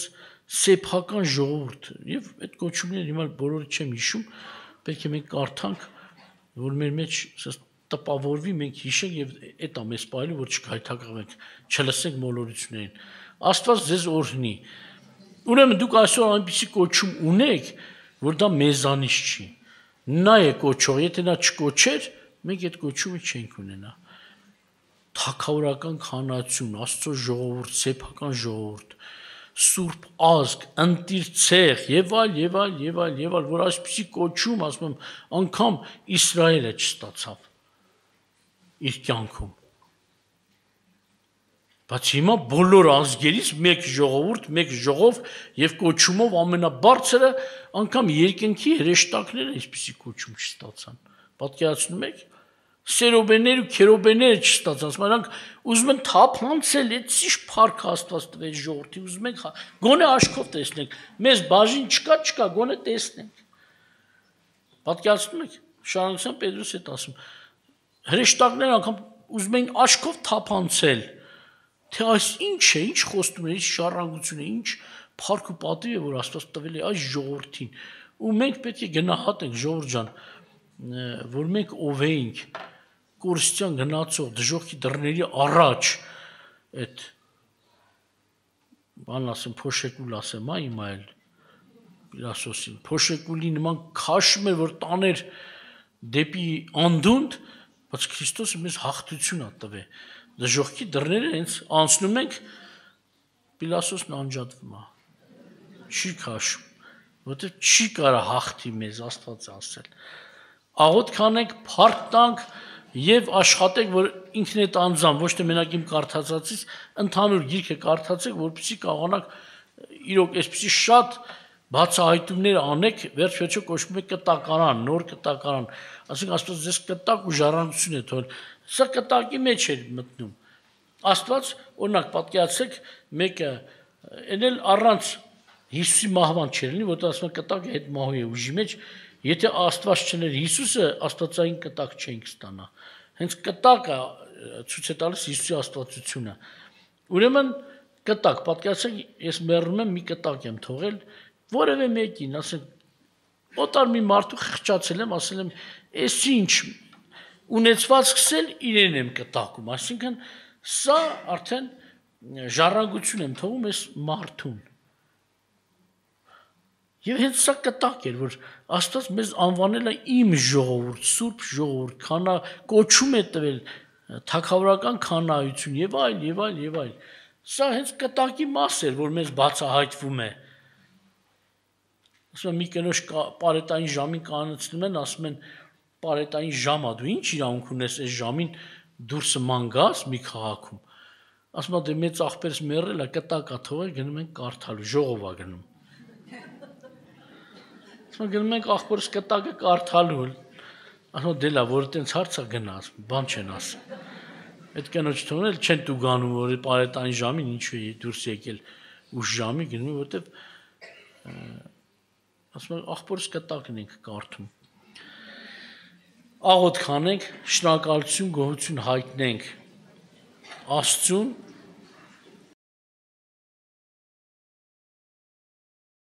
Speaker 1: սեփական ժողովուրդ եւ այդ կոչումները հիմա բոլորը չեմ հիշում, պետք է մենք կարդանք, որ մեր մեջ տպավորվի, մենք հիշենք եւ այդ է մեզ պահելու, որ չգայթակղվենք, չլսենք մոլորություններին։ Աստված ձեզ օրհնի։ Ուրեմն դուք այսօր այնպիսի կոչում ունեք, որ դա մեզանից չի։ Նա է կոչող, եթե նա չկոչեր, մենք այդ կոչումը չենք ունենա։ Թագավորական քահանայություն, Աստծո ժողովուրդ, սեփական ժողովուրդ, սուրբ ազգ, ընտիր ցեղ եւ այլ եւ այլ եւ այլ եւ այլ, որ այսպիսի կոչում, ասում եմ, անգամ Իսրայելը չստացավ իր կյանքում։ Բայց հիմա բոլոր ազգերից մեկ ժողովուրդ, մեկ ժողով եւ կոչումով ամենաբարձրը անգամ երկնքի հրեշտակները այսպիսի կոչում չստացան։ Պատկերացնում եք, սերոբեներ ու քերոբեներ չստացան, սրանք ուզում են թափանցել, այդ ինչ փառք Աստված տվեց ժողովրդի, ուզում ենք գոնե աչքով տեսնենք, մեզ բաժին չկա, չկա, գոնե տեսնենք։ Պատկերացնում եք, շարունակության Պետրոս հետ ասում, հրեշտակները անգամ ուզում են աչքով թափանցել, թե այս ինչ է, ինչ խոստում է, ինչ շարժանգություն է, ինչ փառք ու պատիվ է, որ Աստված տվել է այս ժողովրդին։ Ու մենք պետք է գնահատենք, ժողովուրդ ջան, որ մենք ով էինք, կորստյան գնացող դժոխքի դռների առաջ այդ բան ասեմ, փոշեկուլ ասեմ, այ հիմա էլ Պիլասոսին, փոշեկուլի նման քաշում էր, որ տաներ դեպի անդունդ, բայց Քրիստոսը մեզ հաղթություն ա տվել։ Դժոխքի դռները հենց անցնում ենք, Պիլասոսն անջատվում է, չի քաշում, որտեղ չի կարա հաղթի մեզ, Աստված ասել։ Աղոթք անենք, փառք տանք եւ աշխատենք, որ ինքն այդ անձամ, ոչ թե մենակ իմ կարդացածից, ընդհանուր գիրքը կարդացեք, որպեսզի կարողանաք իրոք այսպեսի շատ բացահայտումներ անեք, վերջ-վերջո կոչվում է կտակարան, նոր կտակարան, ասենք Աստված ձեզ կտակ ու ժառանգություն է թողել, սա կտակի մեջ է մտնում։ Աստված, օրինակ պատկերացրեք, մեկը այն էլ առանց Հիսուսի մահվան չէր լինի, որտեղ ասում են կտակը հետ մահու է ուժի մեջ, եթե Աստված չներ Հիսուսը, աստվածային կտակ չենք ստանա։ Հենց կտակը ցույց է տալիս Հիսուսի աստվածությունը։ Ուրեմն կտակ, պատկերացրեք, ես մեռնում եմ, մի կտակ եմ թողել, որևէ մեկին, ասենք, օտար մի մարդու խղճացել եմ, ասել եմ, «Էս ինչ ունեցվածքս էլ իրեն եմ կտակում», այսինքն սա արդեն ժառանգություն եմ թողում այս մարդուն։ Եվ հենց սա կտակ էր, որ Աստված մեզ անվանել է իմ ժողովուրդ, սուրբ ժողովուրդ, քանա կոչում է տվել թագավորական քանայություն եւ այլ եւ այլ եւ այլ։ Սա հենց կտակի մաս էր, որ մեզ բացահայտվում է։ Ասում եմ մի կնոջ պարետային ժամին կանցնում են, ասում են պարետային ժամա, դու ինչ իրավունք ունես այս ժամին դուրսը ման գաս մի քաղաքում։ Ասում եմ դե մեծ աղբերս մեռել է, կտակա թողել, գնում են կարդալու, ժողով է գնում։ Ասում եմ գնում ենք աղբորս կտակը կարդալու։ Ասում դե լավ, որ այտենց հարց է գնաց, բան չեն ասում։ Այդ կնոջ թողնել չեն դու գանում, որ պարետային ժամին ինչու է դուրս եկել ուշ ժամի գնում, որտեվ ասում եմ աղբորս կտակն ենք կարդում։ Աղոթք անենք, շնորհակալություն, գոհություն հայտնենք Աստծուն